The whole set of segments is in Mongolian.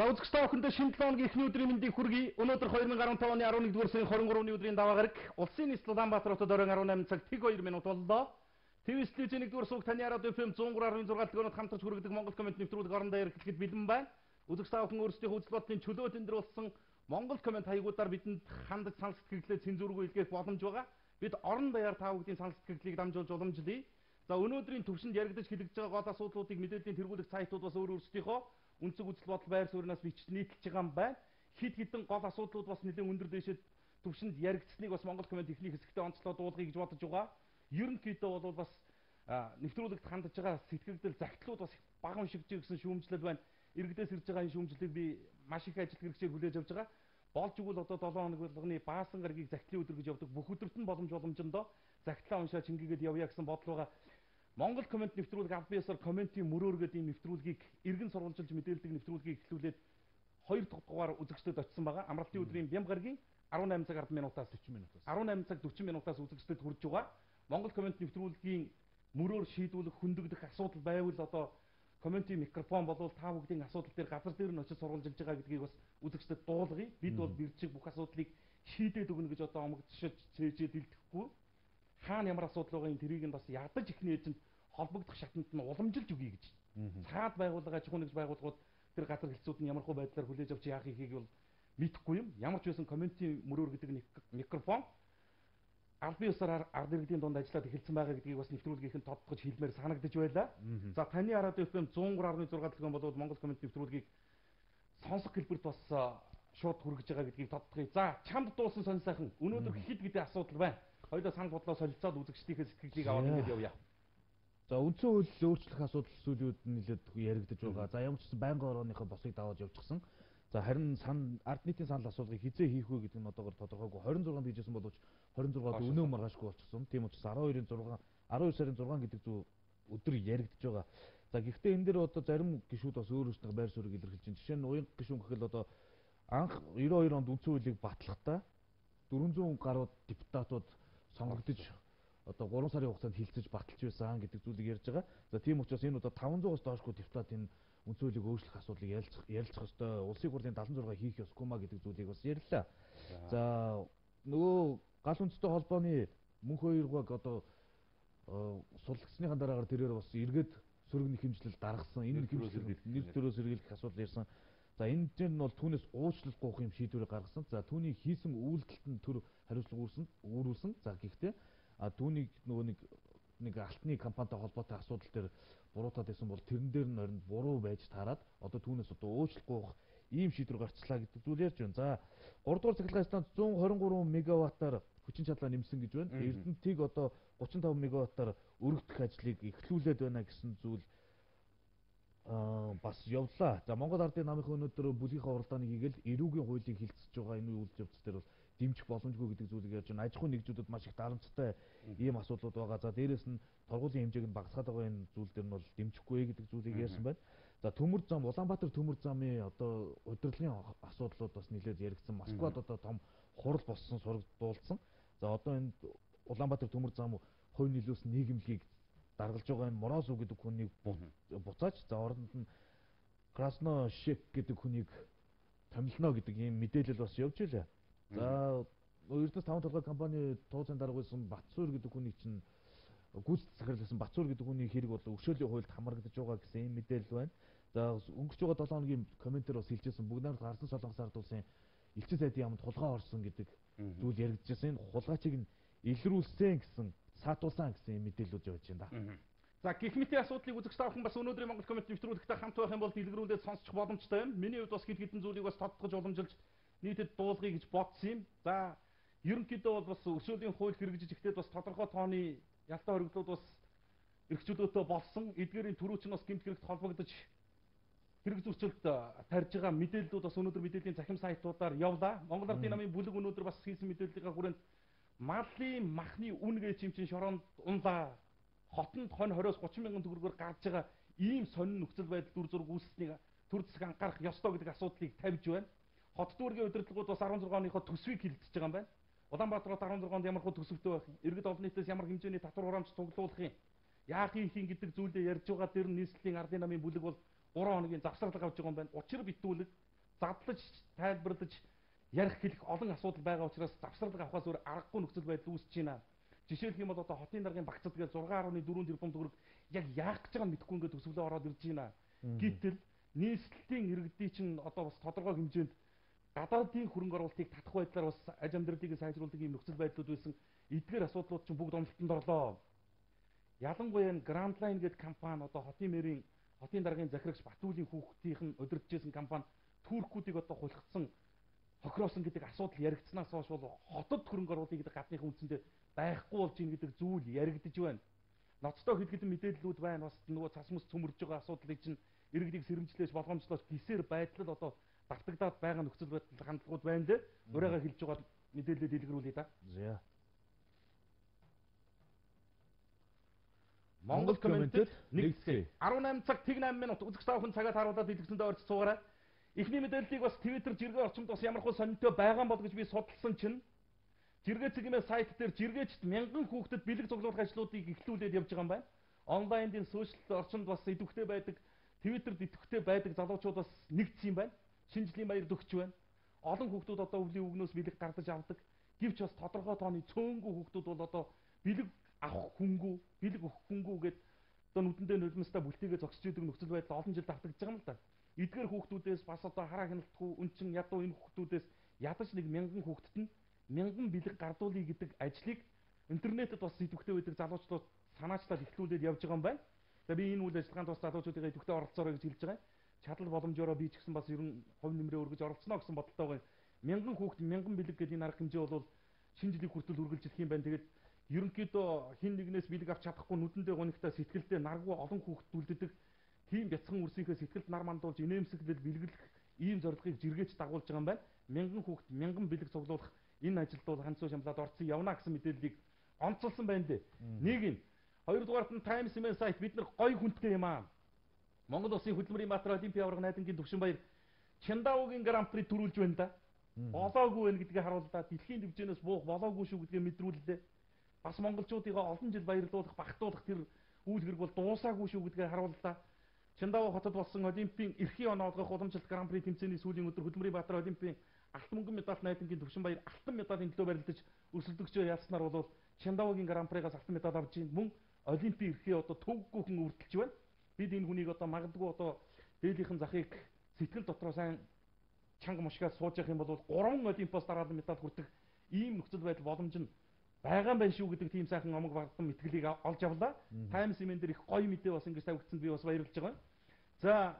За үзэгч та бүхэндээ шинэ 7 өдрийн эхний өдрийн мэндийг хүргэе. Өнөөдөр 2015 оны 11-р сарын 23-ны өдрийн даваа гараг Улсын нийслэл Улаанбаатар хотод оройн 18 цаг тэг 2 минут боллоо. ТV студийн 1-р сууг таны радио FM 103.6 төлөвөнд хамтарч хүргэдэг Монгол комент нэвтрүүлэг орон даяар эхлэхэд бэлэн байна. Үзэгч та бүхэн өөрсдийнхөө үзэл бодлын чөлөө тэмдэглүүлсэн Монгол комент хаягуудаар бидэнд хандаж санал сэтгэлдээ цензургүй илгээх боломж байгаа. Бид орон даяар та бүхний санал сэтгэлдлийг дамжуулж уламжлая. За өнөөдрийн төвшөнд яригдаж хэлэгдэж байгаа гол асуудлуудыг мэдээллийн тэргүүлэх сайтууд бас өөрсдийнхөө үнцэг үзэл бодол байр сууриас бичиж нийтэлж байгаа юм байна. Хит хитэн гол асуудлууд бас нэлээд өндөр дэшэд төвшөнд яригдсныг бас Монгол комент ихний хэсэгтээ онцлоод дуулахыг гэж бодож байгаа. Ерөнхийдөө бол бас нэвтрүүлэгт хандж байгаа сэтгэгдэл загтлууд бас бага уншигч гэсэн шүүмжлэл байна. Иргэдээс ирж байгаа энэ шүүмжлэлийг би маш их ажил хэрэгжээр хүлээж авч байгаа. Болж игэл одоо 7 хоног болгоны баасан гарагийг загтлын өдөр гэж явдаг. Бүх өдөрт нь боломжиндоо загтлаа уншаа чингээгээд явъя гэсэн бодол байгаа. Монгол комент нэвтрүүлэг аль биесээр комментийн мөрөөр гэдэг ийм нэвтрүүлгийг иргэн сурвалжилж мэдээлдэг нэвтрүүлгийг эхлүүлээд 2 дахь дугаар үзэгчдэд очсон байгаа. Амралтын өдрийн бям гарагийн 18 цаг 10 минутаас 40 минутаас 18 цаг 40 минутаас үзэгчдэд хүрж байгаа. Монгол комент нэвтрүүлгийн мөрөөр шийдвүлэх хөндөгдөх асуудал байвал одоо комментийн микрофон болвол та бүгдийн асуудал дээр газар дээр нь очиж сурвалжилж байгаа гэдгийг бас үзэгчдэд дуулгая. Бид бол бэрчиг бүх асуудлыг шийдээд өгнө гэж одоо омогдсож цээжээ дэлдэхгүй. Хаана ямар асуудал байгаа юм тэрийг нь бас ядаж ихний эзэнд холбогдох шатанд нь уламжилж өгье гэж. Цаад байгууллага аж ахуйн нэгж байгууллагууд тэр газар хэлцүүд нь ямар хөө байдлаар хүлээж авч яах ихийг бол мэдэхгүй юм. Ямар ч байсан комментийн мөрөөр гэдэг микрофон аль бие усаар ард иргэдийн дунд ажиллаад эхэлсэн байгаа гэдгийг бас нэвтрүүлгийнхэн тодтогч хэлмээр санагдаж байлаа. За таны радио FM 103.6 төлгөн болоод Монгол комент нэвтрүүлгийг сонсох хэлбэрт бас шууд хүргэж байгаа гэдгийг тодтогъё. За чамд дуусан сонь сайхан өнөөдөр хэд гэдэг асуудал байна. Хоёулаа санал бодлоо солилцоод үзэгчдийнхээ сэтгэлийг аваад ингэж явъя. За үндсэн хууль өөрчлөх асуудал зүйлүүд нэлээд яригдж байгаа. За ямар ч гэсэн байнгын орооныхоо босыг даваад явчихсан. За харин ард нийтийн санал асуулгыг хизээ хийх вэ гэдэг нь одоогор тодорхойгүй. 26-нд хийжсэн боловч 26-д өнөө маргаашгүй болчихсон. Тийм учраас 12 сарын 6 гэдэг зүү өдөр яригдж байгаа. За гэхдээ энэ дээр одоо зарим гишүүд бас өөр өөрсдөө байр суурийг илэрхийлж байна. Жишээ нь уян гишүүн гэхэл одоо анх 92 онд үндсэн хуулийг батлахдаа 400 гаруй депутатууд сонгогдож одоо 3 сарын хугацаанд хилцэж баталж байсан гэдэг зүйлийг ярьж байгаа. За тийм учраас энэ удаа 500-аас доошгүй депутат энэ үндсэн хуулийг өөрчлөх асуудлыг ярилцах ёстой. Улсын хурлын 76 хийх ёсгүй маа гэдэг зүйлийг бас ярьлаа. За нөгөө гал үндэстэй холбооны мөнх хоёргоог одоо суллагдсныхаа дараагаар тэрээр бас эргээд сөрөг нэхэмжлэл даргасан. Энэ нэхэмжлэл нэр төрөөс сэргийлэх асуудал ярьсан. За энэ дээр нь бол түүнээс уучлалт гуйх юм шийдвэрийг гаргасан. За түүний хийсэн үйлдэлт нь төр хариуцлага үүрүүлсэн. За гэхдээ түүнийг нөгөө нэг алтны компанитай холбоотой асуудал дээр буруутаад байсан бол тэрэн дээр нь орнд буруу байж таарад одоо түүнээс одоо уучлалт гуйх ийм шийдвэр гарчлаа гэдэг зүйл ярьж байна. За 3 дугаар цахилгаан станц 123 мегаваттаар хүчин чадлаа нэмсэн гэж байна. Эрдэнэтийг одоо 35 мегаваттаар өргөдөх ажлыг эхлүүлээд байна гэсэн зүйл бас явлаа. За Монгол Ардын намынхаа өнөөдөр бүлгийнхаа уралдааныг хийгээл эрүүгийн хуулийг хилцэж байгаа энэ үйл явц дээр бол дэмжих боломжгүй гэдэг зүйлийг ярьж байна. Аж ахуйн нэгжүүдэд маш их дарамттай ийм асуудлууд байгаа. За дээрэс нь торгуулийн хэмжээг нь багасгаад байгаа энэ зүйл дээр нь бол дэмжихгүй гэдэг зүйлийг ярьсан байна. За төмөр зам Улаанбаатар төмөр замын одоо удирдлагын асуудлууд бас нэлээд яригдсан. Москвад одоо том хурал болсон сураг дуулсан. За одоо энэ Улаанбаатар төмөр зам хувь нөлөөс нийгэмлэгийг даргалж байгаа энэ Морозов гэдэг хүнийг буцааж за оронд нь Красно Шек гэдэг хүнийг томилно гэдэг ийм мэдээлэл бас явж илээ. За Эрдэнэс 5 толгой компани тууцын дарга байсан Батсуур гэдэг хүний чинь гүйцэтгэх захирласан Батсуур гэдэг хүний хэрэг бол өршөөлийн хуульд хамрагдаж байгаа гэсэн ийм мэдээлэл байна. За өнгөрч байгаа 7 хоногийн комментээр бас хэлжсэн бүгд найрамд Гарсан Солонгос ард улсын элчин сайдын яамд хулгай орсон гэдэг зүйл яригдчихсэн. Энэ хулгайчийг нь илрүүлсэн гэсэн саатуулсан гэсэн ийм мэдээлэлүүд явж байна да. За гэх мэт асуудлыг үзэгч та бүхэн бас өнөөдрийн Монгол комент нэвтрүүлэгтээ хамт байх юм бол дэлгэрүүлээд сонсчих боломжтой юм. Миний хувьд бас хэд хэдэн зүйлийг бас тодтогч уламжилж нийтэд дуулгыг гэж бодсон юм. За ерөнхийдөө бол бас өршөөлийн хууль хэрэгжиж ихтэй бас тодорхой тооны ялтаа хоригдлууд бас эрхчлөөтэй болсон. Эдгээрийн түрүүч нь бас гэмт хэрэгт холбогдож хэрэг зөрчилд тарьж байгаа мэдээллүүд бас өнөөдөр мэдээллийн цахим сайтуудаар явлаа. Монгол Ардын намын бүлэг өнөөдөр бас хийсэн мэдээллийнхаа хүрээнд малын махны үн гэж юм чин шороонд унлаа. Хотонд 20-20-оос 30 мянган төгрөгөөр гарч байгаа ийм сонин нөхцөл байдал дүр зураг үүссэнийг төр засаг анхаарах ёстой гэдэг асуудлыг тавьж байна. Хот дүүргийн удирдлагууд бас 16 оныхоо төсвийг хилдэж байгаа юм байна. Улаанбаатарт 16 онд ямар хөө төсөвтэй байх юм? Иргэд олон нийтээс ямар хэмжээний татвар хураамж цуглуулах юм? Яах юм гэдэг зүйлээ ярьж байгаа дэр нийслэлийн ардын намын бүлэг бол 3 хоногийн завсарлага авч байгаа юм байна. Учир битүүлэг задлаж, тайлбарлаж ярих хэлэх олон асуудал байгаа учраас завсралга авахаас өөр аргагүй нөхцөл байдал үүсэж байна. Жишээлх юм бол одоо хотын даргын багцад гэж 6.4 тэрбум төгрөг яг яах гэж байгааг мэдэхгүй ингээд төсвөлөө ороод ирж байна. Гэтэл нийслэлийн иргэдийн чинь одоо бас тодорхой хэмжээнд гадаадын хөрөнгө оруулалтыг татах байдлаар бас аж амьдралыг сайжруулдаг юм нөхцөл байдлууд байсан. Эдгээр асуудлууд чинь бүгд онолтонд орлоо. Ялангуяа Grand Line гэдэг компани одоо хотын даргын захирагч Батүлийн хүүхдийнх нь удирдахжсэн компани туркуудыг одоо хулгацсан хохироосон гэдэг асуудал яригдсанаас хойш бол хотод хөрөнгө оруулалт гэдэг гадныхан үндсэндээ байхгүй болж ийн гэдэг зүйл яригдж байна. Ноцтой хэд хэдэн мэдээллүүд байна. Бас нөгөө цас мөс цөмөрж байгаа асуудлыг чинь иргэдийг сэрэмжлээж болгоомжлооч гисээр байдлал одоо давтагдаад байгаа нөхцөл байдал хандлагууд байна лээ. Урайгаа хэлж байгаа мэдээлэлээ дэлгэрүүлье да. За. Монгол комментэд нэгтгэе. 18 цаг 8 минут үзэгч та бүхэн цагаа тааруулаад дэлгэсэндээ орж суугаарай. Эхний мэдээллийг бас Twitter жиргээ орчимд бас ямархуу сонирхтой байгаа бол гэж би судалсан чинь жиргээ цэгийн сайт дээр жиргээчд мянган хүүхдэд бэлэг цуглуулах ажлуудыг эхлүүлээд явж байгаа юм байна. Онлайнын сошиал орчинд бас идэвхтэй байдаг, Twitterд идэвхтэй байдаг залуучууд бас нэгдсэн юм байна. Шинжлэлийн баярд өгч байна. Олон хүүхдүүд одоо өвлийн үгнөөс бэлэг гардаж авдаг. Гэвч бас тодорхой тооны цөөнгүү хүүхдүүд бол одоо бэлэг авах хүнгүй, бэлэг өгөх хүнгүй гэдэг одоо нүдэндээ нулимстай бүлтийгээ зогсож идэг нөхцөл байдал олон жил давтагдж байгаа юм л да. Эдгээр хүүхдүүдээс бас одоо хараа хяналтгүй үнчин ядуу энэ хүүхдүүдээс ядаж нэг мянган хүүхдэд нь мянган бэлэг гардуулъя гэдэг ажлыг интернетэд бас идэвхтэй байдаг залуучууд санаачлаад эхлүүлээд явж байгаа юм байна. За би энэ үйл ажиллагаанд бас залуучуудыг идэвхтэй оролцоорой гэж хэлж байгаа. Чадал боломжоор би ч гэсэн бас ер нь хувь нэмрээ өргөж оролцоно гэсэн бодолтой байгаа. Мянган хүүхд мянган бэлэг гэдэг энэ арга хэмжээ бол шинэ жилийн хүртэл үргэлжлэх юм байна. Тэгээд ерөнхийдөө хин нэгнээс бэлэг авч чадахгүй нүдэндээ гонигтай сэтгэлдээ наргүй олон хүүхд үлддэг. Тийм бяцхан үрсийнхээ сэтгэлд нар мандуулж инээмсэглэл бэлгэлэх ийм зорилгыг жиргээч дагуулж байгаа юм байна. Мянган хүүхд мянган бэлэг цуглуулах энэ ажилд бол ганцуу шамлаад орцсон явна гэсэн мэдээллийг онцолсон байна дээ. Нэг нь. Хоёрдугаарт нь Times Emeen сайт бид нар гой хүнтэй юм аа. Монгол Улсын хөдөлмөрийн Баатар Олимпийн аварга найдангийн Төвшинбаяр Чиндаогийн Гран При төрүүлж байна да. Болоогүй байна гэдгийг харуулдаа дэлхийн төвчнөөс буух болоогүй шүү гэдгийг мэдрүүллээ. Бас монголчуудыг олон жил баярлуулах, багтуулах тэр үйл хэрэг бол дуусаагүй шүү гэдгийг харууллаа. Чиндао хотод болсон Олимпийн эрхийн оноогох уламжлалт Гран При тэмцээний сүүлийн өдөр хөдөлмөрийн Баатар Олимпийн алтан мөнгөн медаль найдангийн Төвшинбаяр алтан медалийн төлөө барилдаж өрсөлдөгчөө яаснаар бол Чиндаогийн Гран Пригаас алтан медаль авч ийн мөн Олимпийн эрхээ одоо төвггүй хүн үрдэлж байна. Бид энэ хүнийг одоо магадгүй одоо дээлийнхэн захыг сэтгэл дотроо сайн чанга мушгаад сууж явах юм бол 3 Олимпиос дараалан медаль хүртэх ийм нөхцөл байдал боломж нь байгаа юм байна шүү гэдэг тийм сайхан омог бардам мэтгэлийг олж авлаа. Times Emeen дээр их гоё мэдээ бас ингэж тавигдсанд би бас баярлж байгаа. За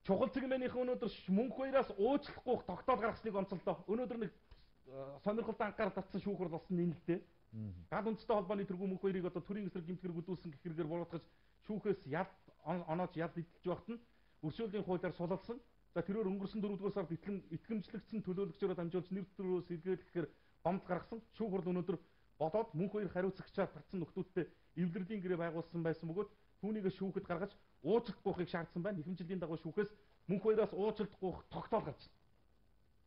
чухал цэгмэнийхэн өнөөдөр мөнх баяраас уучлахгүй тогтоол гаргасныг онцолдоо. Өнөөдөр нэг сонирхолтой анхаарал татсан шүүхрэл болсон юм л дээ. Гал үндэстэй холбооны тэргүүн мөнх баярыг одоо төрийн эсрэг гэмт хэрэг үзүүлсэн гэх хэрэгээр буруутгаж шүүхээс яд онооч яд идэлж байхад нь өршөөлийн хуулиар сулалсан. За тэрээр өнгөрсөн 4-р сард итгэмжлэгдсэн төлөөлөгчөөрөө дамжуулж нэр төрөө сэргийлэхээр гомд гаргасан. Шүүхрэл өнөөдөр бодоод мөнх баяр хариуцагчаар гарсан нөхдүүдтэй эвлэрлийн гэрээ байгуулсан байсан бөгөөд түүнийг шүүхэд гаргаж уучлалт гуйхыг шаардсан байна. Ихэвчлэлийн дагуу шүүхээс мөнх баяраас уучлалт гуйх тогтоол гарсан.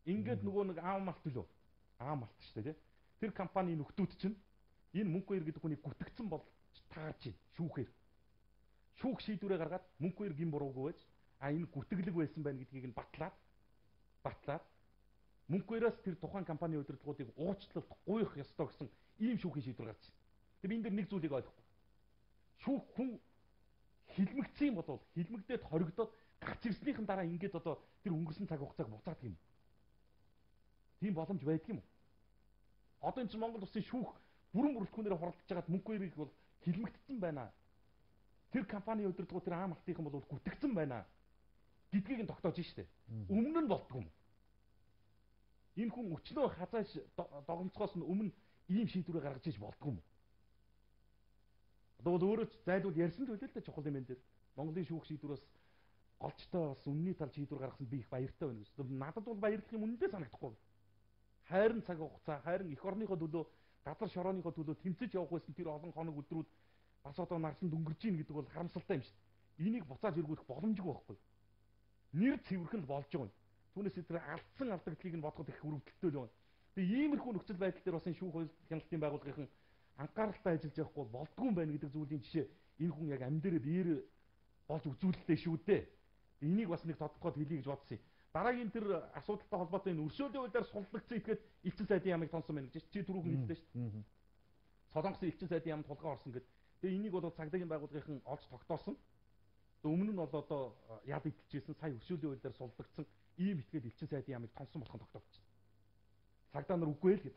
Ингээд нөгөө нэг аав малт билүү? Аав малт шүү дээ. Тэр компани нөхдүүд чинь энэ мөнх баяр гэдэг хүнийг гүтгцэн болж таарч байна шүүхээр. Шүүх шийдвэрээ гаргаад мөнх баяр гин буруугүй байж энэ гүтгэлэг байсан байна гэдгийг нь батлаад мөнх баяраас тэр тухайн компани удирдлагуудыг уучлалт гуйх ёстой гэсэн ийм шүүхийн шийдвэр гарч байна. Тэгээ би энэ дээр нэг зүйлийг ойлгохгүй. Шүүх хүн хилмигдсэн юм бол хилмигдээд хоригдоод гарч ирснийхэн дараа ингээд одоо тэр өнгөрсөн цаг хугацааг буцаадаг юм. Тийм боломж байдаг юм уу? Одоо энэ чинь Монгол Улсын шүүх бүрэн бүрэлдэхүүнээр хуралдаж байгаад мөнх баярыг бол хилмигдсэн байна. Тэр компани удирдлагууд тэр аам алтынхан бол гүтгцэн байна гэдгийг нь тогтоож штэ. Өмнө нь болдгоо юм. Энэ хүн өчнөө хазааж догомцохоос нь өмнө ийм шийдвэрээ гаргаж иж болдгоо юм. Одоо бол өөрөө зайлуул ярьсан л үлээ л дээ чухал юм энэ дээр. Монголын шүүх шийдвэрээс голчтой бас үнний тал шийдвэр гаргасан би их баяртай байна гэсэн. Надад бол баярлах юм үнэндээ санагдахгүй. Хайрын цаг хугацаа, хайрын эх орныхоо төлөө, газар шорооныхоо төлөө тэмцэж явах байсан тэр олон хоног өдрүүд бас одоо нарсанд өнгөрж ийн гэдэг бол харамсалтай юм шүү дээ. Энийг буцааж эргүүлэх боломжгүй байхгүй. Нэр цэвэрхэн л болж байгаа юм. Түүнээс тэр алдсан алдагдлыг нь бодоход их хүрэмтэлтэй л байна. Тэгээ иймэрхүү нөхцөл байдал дээр бас энэ шүүх хяналтын байгууллагын анхааралтай ажиллаж явахгүй болдгүй юм байна гэдэг зүйлийн жишээ энэ хүн яг амь дээрээ биеэр болж үзүүлэлтэй шүү дээ. Энийг бас нэг тодтогоод хэлье гэж бодсон юм. Дараагийн тэр асуудалтай холбоотой энэ өршөөлийн хуулиар суллагдсан этгээд элчин сайдын ямыг тонсон байна гэж чи түрүүхэн хэллээ шүү дээ. Солонгосын элчин сайдын ямд тулгаан орсон гэдэг. Тэгээ энийг бол цагдаагийн байгууллагын олж тогтоосон. Өмнө нь бол одоо яд идэлжсэн сая өршөөлийн хуулиар суллагдсан ийм этгээд элчин сайдын ямыг тонсон болох нь тогтоогдсон. Цагдаа нар үгүй л гэдэг.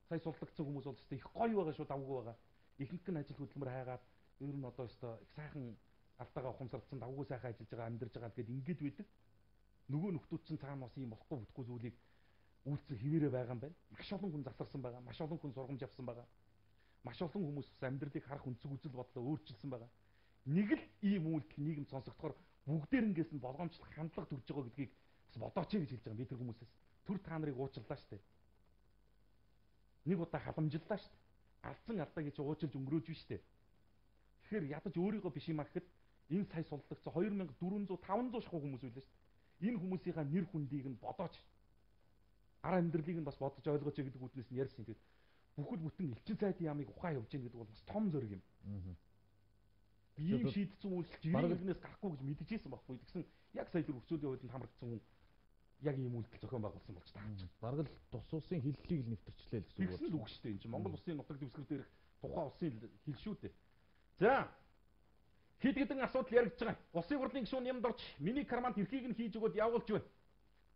Сая суллагдсан хүмүүс бол их гоё байгаа шүү, давгүй байгаа. Ихэнх нь ажил хөдөлмөр хайгаад ер нь одоо өстой их сайхан алдаагаа ухамсарлцсан давгүй сайхан ажиллаж байгаа, амьдарч байгаа гэдээ ингэж байдаг. Нөгөө нөхдүүд чинь цаана бас ийм болохгүй бүтггүй зүйлийг үйлцэх хിവэрэ байгаа юм байна. Маш олон хүн засарсан байгаа, маш олон хүн сургамж авсан байгаа. Маш олон хүмүүс амьдралыг харах өнцөг үзэл бодлоо өөрчилсөн байгаа. Нэг л ийм үйлдэл нийгэм сонсогдохоор бүгдээрэнгээс нь болгоомжлох хандлага төрж байгаа гэдгийг бас бодооч гэж хэлж байгаа би тэр хүмүүсээс. Түр та нарыг уучлаа штэ. Нэг удаа халамжиллаа штэ. Алдсан алдаа гэж уучлж өнгөрөөж биш штэ. Тэгэхээр ядаж өөрийгөө биш юм ахэд энэ сая суллагдсан 2400 500 шахуу хүмүүс байлаа штэ. Энэ хүмүүсийнхаа нэр хүндийг нь бодооч. Ар амьдралыг нь бас бодож ойлгооч гэдэг үднээс нь ярьсан. Тэгээд бүхэл бүтэн элчин сайдын ямыг ухаан явж гин гэдэг бол бас том зориг юм. Ийм шийдсэн үйлчлэл жиргэнээс гарахгүй гэж мэдчихсэн байхгүй. Тэгсэн яг сая тэр өрсөлдөөн хуулинд хамрагдсан хүн яг ийм үйлдэл зохион байгуулсан болж таарч. Бараг л тус улсын хиллийг л нэвтэрчлээ л гэсэн үг. Тэгсэн л үг шүү дээ. Энэ чинь Монгол улсын нутаг дэвсгэр дээрх тухайн улсын хил шүү дээ. За хэд хэдэн асуудал яригдж байгаа. Улсын хурлын гишүүн юмд орж миний карманд эрхийг нь хийж өгөөд явуулж байна.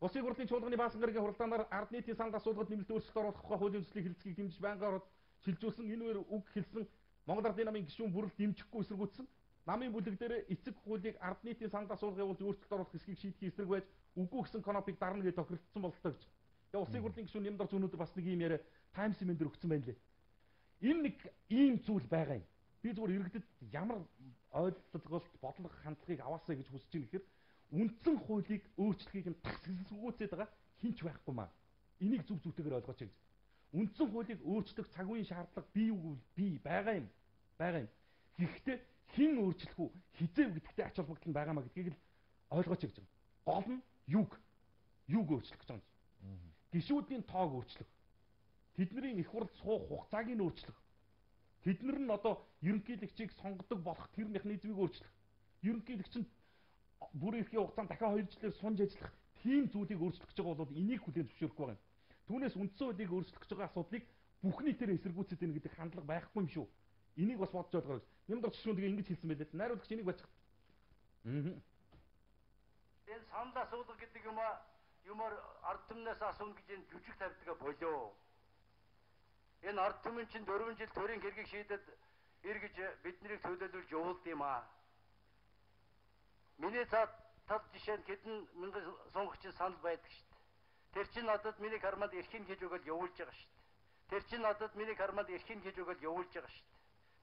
Улсын хурлын чуулганы баасан гарагийн хуралдаанаар ард нийтийн санал асуулгад нэмэлт өөрчлөлт оруулах тухай хуулийн төслийг хэлцгийг дэмжиж байнга ороод шилжүүлсэн энэ үеэр үг хэлсэн Монгол Ардын намын гишүүн бүрэл дэмжихгүй эсэргүүцсэн. Намын бүлэг дээр эцэг хуулийг ард нийтийн санал асуулгыг явуулж өөрчлөлт оруулах хэсгийг шийдэхин эсрэг байж үгүй гэсэн конопыг дарна гэж тохиролцсон бололтой гэж. Тэгээ улсын хурлын гишүүн юмд орж өнөөдөр бас нэг юм яриа Times Man дээр өгсөн байна лээ. Энэ нэг ийм зүйл байгаа юм. Би зүгээр иргэдэд ямар ойлголт бодлого хандлагыг аваасаа гэж хүсэж байна гэхээр үндсэн хуулийг өөрчлөхийг нь тасгалзгүйцээд байгаа хинч байхгүй маа. Энийг зүг зүйтэйгээр ойлгооч гэж. Үндсэн хуулийг өөрчлөх цаг үеийн шаардлага бий үгүй бий байгаа юм. Байгаа юм. Гэхдээ хэн өөрчлөх үү? Хизээв гэдэгтэй ач холбогдол нь байгаамаа гэдгийг л ойлгооч гэж байна. Гол нь юг өөрчлөх гэж байгаа юм. Гишүүдийн тоог өөрчлөх. Тэдний их хурд суух хугацааг нь өөрчлөх. Тэднэр нь одоо ерөнхийлөгчийг сонгодог болох тэр механизмыг өөрчлөх. Ерөнхийлөгч нь бүрийн эрхийн хугацаанд дахиад 2 жилээр сунж ажиллах тийм зүйлийг өөрчлөх гэж байгаа бол энийг хүлээн зөвшөөрөхгүй байгаа юм. Түүнээс үндсэн хуулийг өөрчлөх гэж байгаа асуудлыг бүх нийтээр эсэргүүцээд байна гэдэг хандлага байхгүй юм шүү. Энийг бас бодож ойлгоорой. Юмд орчшгүй тэгээ ингэж хэлсэн байлээ. Найруулагч энийг бачих. Энэ санал асуулга гэдэг юмар ард түмнээс асууна гэж энэ жүжиг тавьдаг болоо. Энэ ард түмэн чинь 4 жил төрийн хэргийг шийдэд эргэж биднийг төлөөлүүлж явуулд юм аа. Миний тал жишээ нь хэдэн мянган сонгогчийн санал байдаг шүү дээ. Тэр чинь надад миний карманд эрхийг хийж өгöd явуулж байгаа шүү дээ. Тэр чинь надад миний карманд эрхийг хийж өгöd явуулж байгаа шүү дээ.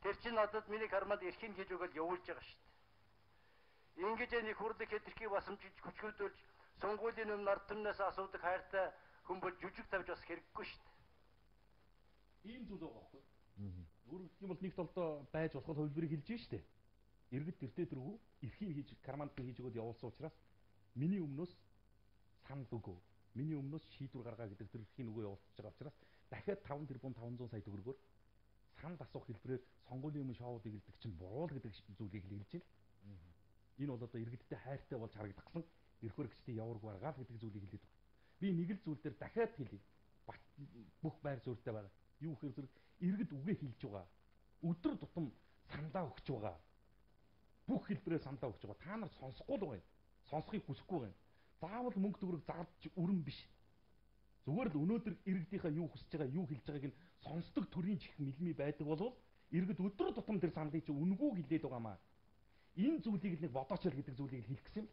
Тэр чинь надад миний карманд эрхийг хийж өгöd явуулж байгаа шүү дээ. Ингэж энэ хурлыг хэтэрхий басамжиж хүчгүүдүүлж сонгуулийн өмнө ард түмнээс асуудаг хайртай хүн бол жүжиг тавьж бас хэрэггүй шүү дээ. Ийм зүйл байгаа байхгүй. Өөрөөр хэлэх юм бол нэг толдоо байж болох хувилбарыг хэлж штэ. Иргэд тэртээ тэргүй эрхийг хийж карманд хийж өгöd явуулсан учраас миний өмнөөс санал өгөө. Миний өмнөөс шийдвэр гаргаа гэдэг тэр эрхийн өгөө явуулчихж байгаа учраас дахиад 5 тэрбум 500 сая төгрөгөөр санал асуух хэлбэрээр сонгуулийн өмнө шоудыг хэлдэг чинь буруу л гэдэг зүйлийг хэлж байна. Энэ бол одоо иргэдтэй хайртай болж харагдахсан эрх баригчдын яварг баргаал гэдэг зүйлийг хэлээд байна. Би нэг л зүйл дээр дахиад хэлье. Бүх байр суурьтай байгаа. Юу гэхээр зэрэг иргэд үгээ хэлж байгаа. Өдөр тутам сандаа өгч байгаа. Бүх хэлбэрээр сандаа өгч байгаа. Та нар сонсохгүй л байгаа юм. Сонсохыг хүсэхгүй байгаа юм. Заавал мөнгө төгрөг зарлж өрн биш. Зүгээр л өнөөдөр иргэдийнхаа юу хүсэж байгаа, юу хэлж байгааг нь сонсдог төрийн чих мэлми байдаг болвол иргэд өдөр тутам тэр саналыг чинь үнгүү хэлээд байгаамаа. Энэ зүйлийг л нэг бодооч л гэдэг зүйлийг хэлэх гэсэн юм.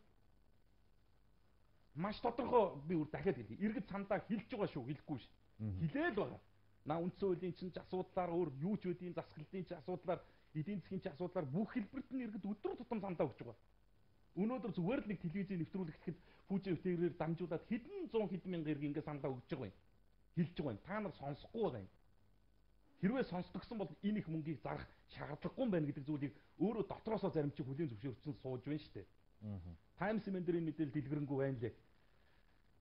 Маш тодорхой би өөр дахиад хэлье. Иргэд сандаа хэлж байгаа шүү, хэлэхгүй ш. Хэлээл байгаа. На үндсэн хуулийн чинь асуудлаар өөр юу ч үдийн засаглалтын чинь асуудлаар, эдийн засгийн чинь асуудлаар бүх хэлбэрт нь иргэд өдөр тутам сандаа өгч байгаа. Өнөөдөр зүгээр л нэг телевизийн нэвтрүүлэг гэхэд пүүжээ өвтгөрөөр дамжуулаад хэдэн зуун хэдэн мянган иргэн ингээ сандаа өгч байгаа юм. Хэлж байгаа юм. Та нар сонсохгүй байгаа юм. Хэрвээ сонсдогсон бол энэ их мөнгийг зарах шаардлагагүй юм байна гэдэг зүйлийг өөрөө дотроосоо зарим чи хүлийн зөвшөөрсөн сууж байна шүү дээ. Times Man дээр энэ мэдээлэл дэлгэрэнгүй байна лээ.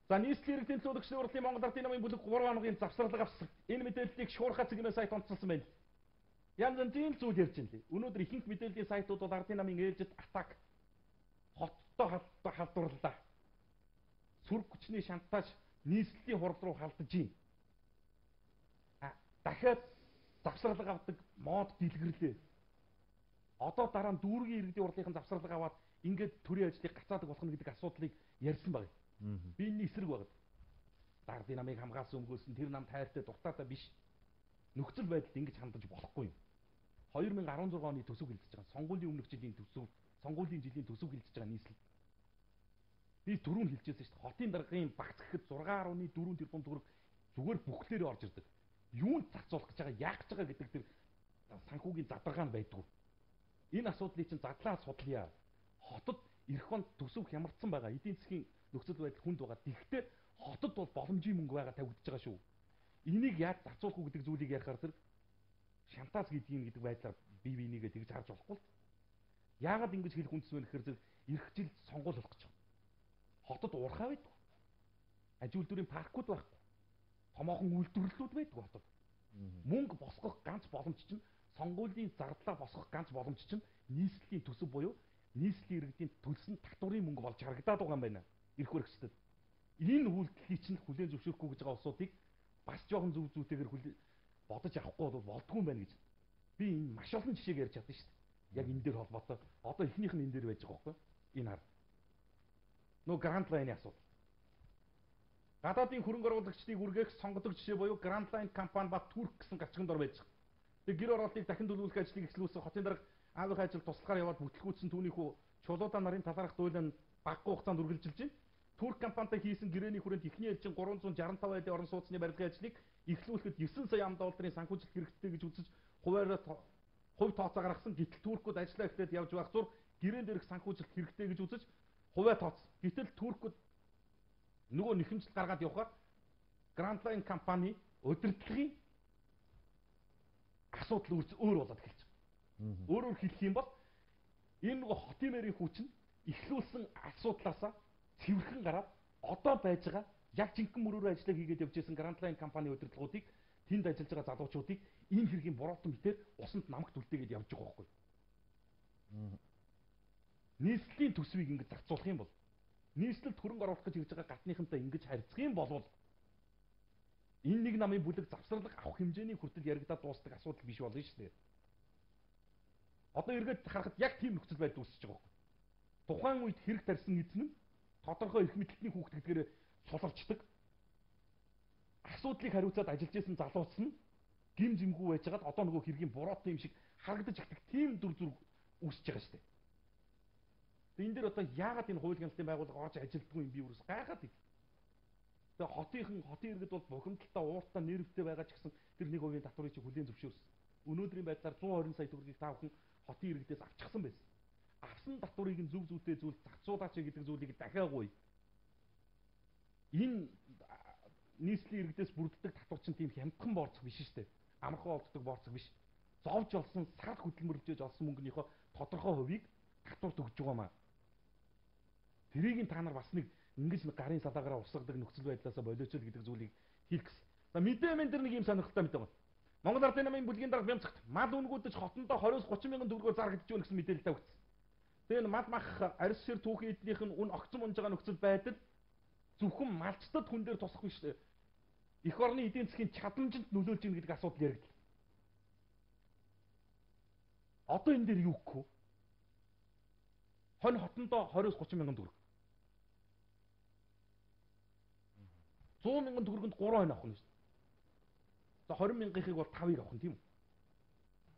За нийслэлийн иргэдийн төлөөлөгчдийн урлагийн Монгол Ардын намын бүлэг 3 хоногийн завсралга авсан. Энэ мэдээллийг шуурхай цэгийн сайт онцолсон байна. Янз бүрийн зүйл ярьж байна лээ. Өнөөдөр ихэнх мэдээллийн сайтууд бол Ардын намын ээлжид атак хоттой халдварлаа. Сүрг хүчний шантаж нийслэлийн хурал руу халдаж ийн. Дахиад завсралга авдаг мод дэлгэрлээ. Одоо дараа нь дүүргийн иргэдийн хурлынхан завсралга аваад ингээд төрийн ажлыг гацаадаг болох нь гэдэг асуудлыг ярьсан баг. Би энэ эсрэг баг. Дардын намыг хамгаалсан өмгөөс нь тэр нам тайртай дуртаатай биш. Нөхцөл байдалд ингэж хандаж болохгүй юм. 2016 оны төсөв хэлцэж байгаа. Сонгуулийн өмнөх жилийн төсөв, сонгуулийн жилийн төсөв хэлцэж байгаа нийслэл. Би түрүүн хэлчихсэн шүү дээ. Хотын даргын багц гэхэд 6.4 тэрбум төгрөг зүгээр бүхлээрээ орж ирдэг. Юунд зарцуулах гэж байгаа, яах гэж байгаа гэдэг тэр санхүүгийн задаргаа нь байдгүй. Энэ асуудлыг чинь задлаа судлая. Хотод эх онд төсөв хямарсан байгаа. Эдийн засгийн нөхцөл байдал хүнд байгаа. Тэгэхдээ хотод бол боломжийн мөнгө байгаа тавигдж байгаа шүү. Энийг яаж зарцуулах уу гэдэг зүйлийг ярихаар тэр шантаж гэдэг байдлаар бие бинийгээ тэгж харж болохгүй. Яагаад ингэж хэлэх үндэс вэ гэхээр эх жил сонгуул болох гэж байна. Хотод уурхай байдаг. Аж үйлдвэрийн паркууд байхгүй. Томоохон үйлдвэрлэлүүд байдаг хотод. Мөнгө босгох ганц боломж чинь сонгуулийн зардлаа босгох ганц боломж чинь нийслэлийн төсөв буюу нийслэлийн иргэдийн төлсөн татварын мөнгө болж харагдаад байгаа юм байна. Ирэх хэрэгчдэд. Энэ үйлдэлийг чинь хүлээн зөвшөөрөхгүй гэж байгаа улсуудыг бас жоохон зүв зүйтэйгээр бодож авахгүй бол болдгүй юм байна гэж. Би энэ маш олон жишээг ярьж чадсан шүү дээ. Яг энэ дээр холбоотой. Одоо эхнийх нь энэ дээр байж байгаа байхгүй. Энэ хар. Нөө Grand Line-ийн асуудал. Гадаадын хөрөнгө оруулагчдыг үргээх сонгодог жишээ буюу Grand Line компани ба Турк гэсэн гачганд ор байж байгаа. Тэгээ гэр оролтыг дахин төлөвлөх ажлыг эхлүүлсэн хотын дарга аавынхаа ажил туслахаар яваад бүтлгүүцсэн түүнийхүү чулуудаа нарын талаарх дуйлан багагүй хугацаанд үргэлжилж байна. Турк компанитай хийсэн гэрээний хүрээнд эхний ээлжин 365 айлын орон сууцны барилгын ажлыг эхлүүлэхэд 9 сая ам долларын санхүүжилт хэрэгтэй гэж үзэж хувь тооцоо гаргасан. Гэтэл туркууд ажиллаа эхлээд явж байх зур гэрэн дээрх санхүүжилт хэрэгтэй гэж үзэж хувиа тооцсон. Гэтэл туркууд нөгөө нэхэмжил гаргаад явхаар Grand Line компани удирдлагын асуудал өөр болоод эхэлж байгаа. Өөрөөр хэлэх юм бол энэ нөгөө хотын мэрийн хүчин эхлүүлсэн асуудлаасаа цэвэрхэн гараад одоо байж байгаа яг жинхэнэ мөрөөр ажиллаж хийгээд явж байсан Grand Line компани удирдлагуудыг тэнд ажиллаж байгаа залуучуудыг энэ хэргийн буруутан битээр усанд намагт үлдээгээд явж байгаа байхгүй. Нийслэлийн төсвийг ингэж зарцуулах юм бол нийслэлд хөрөнгө оруулах гэж ирж байгаа гатныхантай ингэж харьцах юм бол энэ нэг намын бүлэг завсралга авах хэмжээний хүртэл яригадаад дуусдаг асуудал биш болно шүү дээ. Одоо эргээд харахад яг тийм нөхцөл байдал үүсэж байгаа байхгүй. Тухайн үед хэрэг тарьсан эзэн нь тодорхой эрх мэдэлтний хүүхдгээр суларчдаг. Асуудлыг хариуцаад ажиллаж исэн залууц нь гим зэмгүй байжгаад одоо нөгөө хэргийн буруутан юм шиг харагдаж ихдэг тийм дүр зураг үүсэж байгаа шүү дээ. Энэ дээр одоо яагаад энэ хууль хяналтын байгууллага орж ажилддаг юм би юус гайхаад байна. Тэгээ хотын иргэд бол бухимдалтай ууртаа нэрвтэй байгаа ч гэсэн тэр 1% татварыг чи хүлээн зөвшөөрсөн. Өнөөдрийн байдлаар 120 сая төгрөгийг та бүхэн хотын иргэдээс авчихсан байсан. Авсан татварыг нь зөв зүйтэй зүйл зарцуулаач гэдэг зүйлийг дахиагүй. Энэ нийслэлийн иргэдээс бүрддэг татвар чинь тийм хямдхан борцох биш шүү дээ. Амархан олддог борцох биш. Зовж олсон сар хөдөлмөрлөж олсон мөнгөнийхөө тодорхой хувийг татварт өгж байгаамаа. Тэрийг та нар бас нэг ингэж гарын салаагаараа усгадаг нөхцөл байдлаасаа болооч л гэдэг зүйлийг хийх гэсэн. За мэдээ дээр нэг юм сонирхолтой мэдээ байна. Монгол Ардын намын бүлгийн дарга Бямцагт мал үнгүүдэж хотондоо 20-30 мянган төгрөгөөр зарагдж байна гэсэн мэдээлэл тавигдсан. Тэгээ мал мах арьс шир түүхийн эдлийнх нь үн огцон унж байгаа нөхцөл байдал зөвхөн малчтад хүн дээр тусах биш. Эх орны эдийн засгийн чадамжинд нөлөөлж ийн гэдэг асуудал яригдл. Одоо энэ дээр юу гэх вэ? Хонь хотондоо 20-30 мянган төгрөг. 100 мянган төгрөгөнд 3 хонь авах нь шүү дээ. За 20 мянгахыг бол 5-ыг авах нь тийм үү?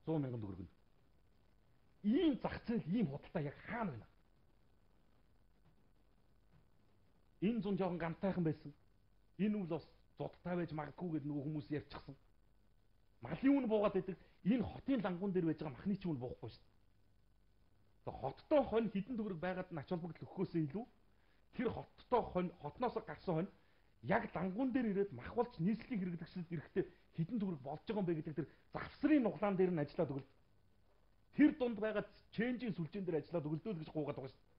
100 мянган төгрөгөнд. Ийм зах зээл, ийм худалдаа яг хаана байна? Энэ зун жоохон гантайхан байсан. Энэ үл бас зодтай байж магадгүй гэдэг нөгөө хүмүүс ярьчихсан. Малын үн буугаад байдаг. Энэ хотын лангуун дээр байж байгаа махны чинь үн буухгүй шүү дээ. За хоттой хонь хідэн төгрөг байгаад нь ач холбогдол өгөхөөсөө илүү тэр хоттой хонь хотноос гарсан хонь яг лангуун дээр ирээд мах болж нийслэлийн хэрэглэгчдэд ирэхдээ хідэн төгрөг болж байгаа юм бэ гэдэг тэр завсрын нуглаан дээр нь ажиллаад өгөл. Тэр дунд байгаа ченжийн сүлжээн дээр ажиллаад өгөлдөө л гэж гуугаад байгаа шүү дээ.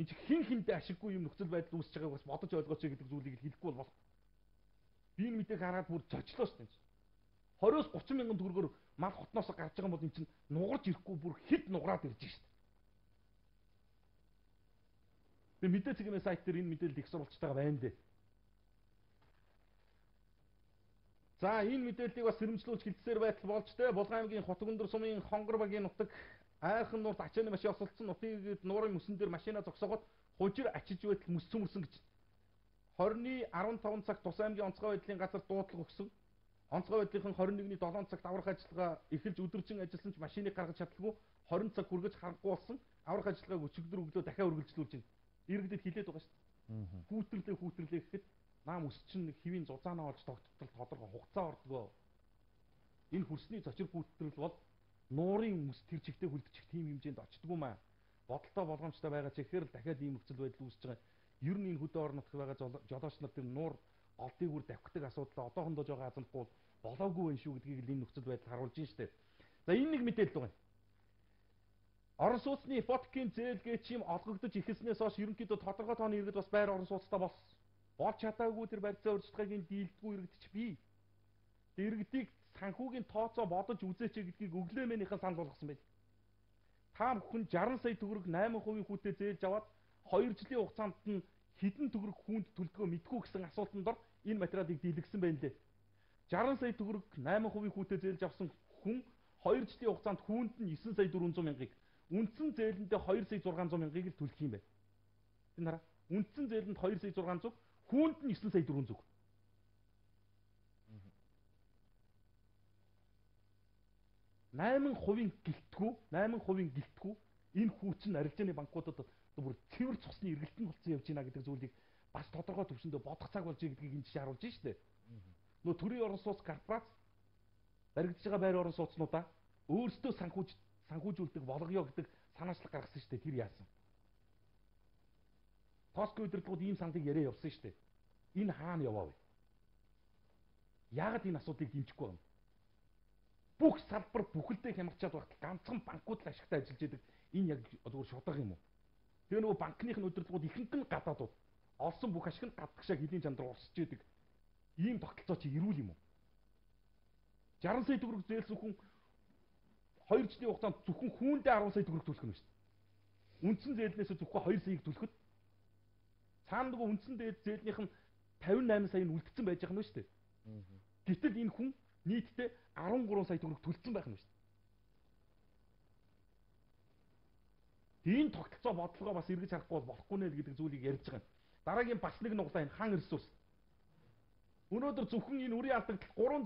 Энд хин хинтэй ашиггүй юм нөхцөл байдал үүсэж байгааг бас бодож ойлгооч гэдэг зүйлийг хэлэхгүй бол болох. Би энэ мэдээг хараад бүр зочлоо шүү дээ. 20-30 мянган төгрөгөөр мал хотноос гарч байгаа бол энэ чинь нугарч ирэхгүй бүр хэд нугараад ирж шүү дээ. Тэгээ мэдээ цэгийн сайт дээр энэ мэдээлэл их сурвалжж байгаа байна дээ. За энэ мэдээллийг бас сэрэмжлүүлж хилцээр байтал болж тэ Булган аймгийн Хотгөндөр сумын Хонгор багийн нутаг айхан нуурт ачааны машин осолцсон нутгийг нуурын мөсөн дээр машина зогсоогоод хужир ачиж байтал мөс цөмөрсөн гэж 20-ны 15 цагт Тус аймгийн онцгой байдлын газар дуудлага өгсөн. Онцгой байдлынхан 21-ний 7 цагт аврах ажиллагаа эхэлж өдөржин ажилласан ч машиныг гаргаж чадлагүй 20 цаг хүргэж харахгүй болсон. Аврах ажиллагааг өчигдөр өглөө дахиад үргэлжлүүлж байна. Иргэдэд хилээд байгаа шүү дээ. Хүүтрлээ гэхэд наам өс чинь хэвийн зузаанаа олж тогттол тодорхой хугацаа ордгоо. Энэ хөрсний зочир хүүтрэл бол нуурын мөс тэр чигтээ хүлдчих тийм хэмжээнд очдгоо маа. Бодолтой болгоомжтой байгаа ч ихээр л дахиад ийм нөхцөл байдал үүсэж байгаа. Ер нь энэ хөдөө орон нутгад байгаа жолооч нар тэр нуур олдыг үр давхдаг асуудал одоохондоо жоо азамгүй болоогүй байх шүү гэдгийг л энэ нөхцөл байдал харуулж байна шүү дээ. За энэ нэг мэдээлэл байна. Орон сууцны ипотекийн зээлгээ чим олгогдож эхэлснээс хойш ерөнхийдөө тодорхой тооны иргэд бас байр орон сууцтай болсон. Болж чадаагүй тэр барьцаа урьдчилгааг дийлдэггүй иргэдч бий. Иргэдийг санхүүгийн тооцоо бодож үзээч гэдгийг өглөомөнийхэн санал болгосон байл. Та бүхэн 60 сая төгрөг 8% хүүтэй зээлж аваад 2 жилийн хугацаанд нь хэдэн төгрөг хүүнд төлдгөө мэдгүй гэсэн асуултанд ор энэ материалыг дийлгсэн байна лээ. 60 сая төгрөг 8% хүүтэй зээлж авсан хүн 2 жилийн хугацаанд хүүнд нь 9 сая 400 мянгаыг, үндсэн зээлэндээ 2 сая 600 мянгаыг л төлөх юм байна. Энэ хараа. Үндсэн зээлэнд 2 сая 600, хүүнд нь 9 сая 400. %8 гэлтгүү энэ хүүчин арилжааны банкудад бүр цэвэр цусны эргэлтэн болсон явж байна гэдэг зүйлийг бас тодорхой төвшөндөө бодох цаг болж байгаа гэдгийг энэ жишээ харуулж байна шүү дээ. Нөө төрийн орон сууц корпорац баригдаж байгаа байр орон сууцнуудаа өөрсдөө санхүүжүүлдэг болгоё гэдэг санаачлаг гаргасан шүү дээ. Тэр яасан? Тоско удирдлагууд ийм саналыг яриа явуулсан шүү дээ. Энэ хаана яваа вэ? Яагаад энэ асуудлыг дэмжихгүй байна? Бүх салбар бүхэлдээ хямарчаад багт ганцхан банкуд л ашигтай ажиллаж байдаг. Энэ яг зүгээр шударга юм уу? Тэгээ нөгөө банкных нь удирдлагууд ихэнх нь гадаадууд олсон бүх ашиг нь гадагшаа хэлийн чандар урсж байдаг. Ийм тогтолцоо чи ирүүл юм уу? 60 сая төгрөг зээлсэн хүн 2 жилийн хугацаанд зөвхөн хүүндээ 10 сая төгрөг төлөх нь шүү дээ. Үндсэн зээлнээс зөвхөн 2 саяыг төлөхөд цаана нөгөө үндсэн зээлнийх нь 58 сая нь үлдсэн байж байгаа юм шүү дээ. Гэтэл энэ хүн нийтдээ 13 сая төгрөг төлсөн байх нь шүү дээ. Энэ тогтолцоо бодлогоо бас эргэж харахгүй бол болохгүй нэ гэдэг зүйлийг ярьж байгаа юм. Дараагийн бас нэг нуглаа энэ хан ресурс. Өнөөдөр зөвхөн энэ үрийн алдагт 3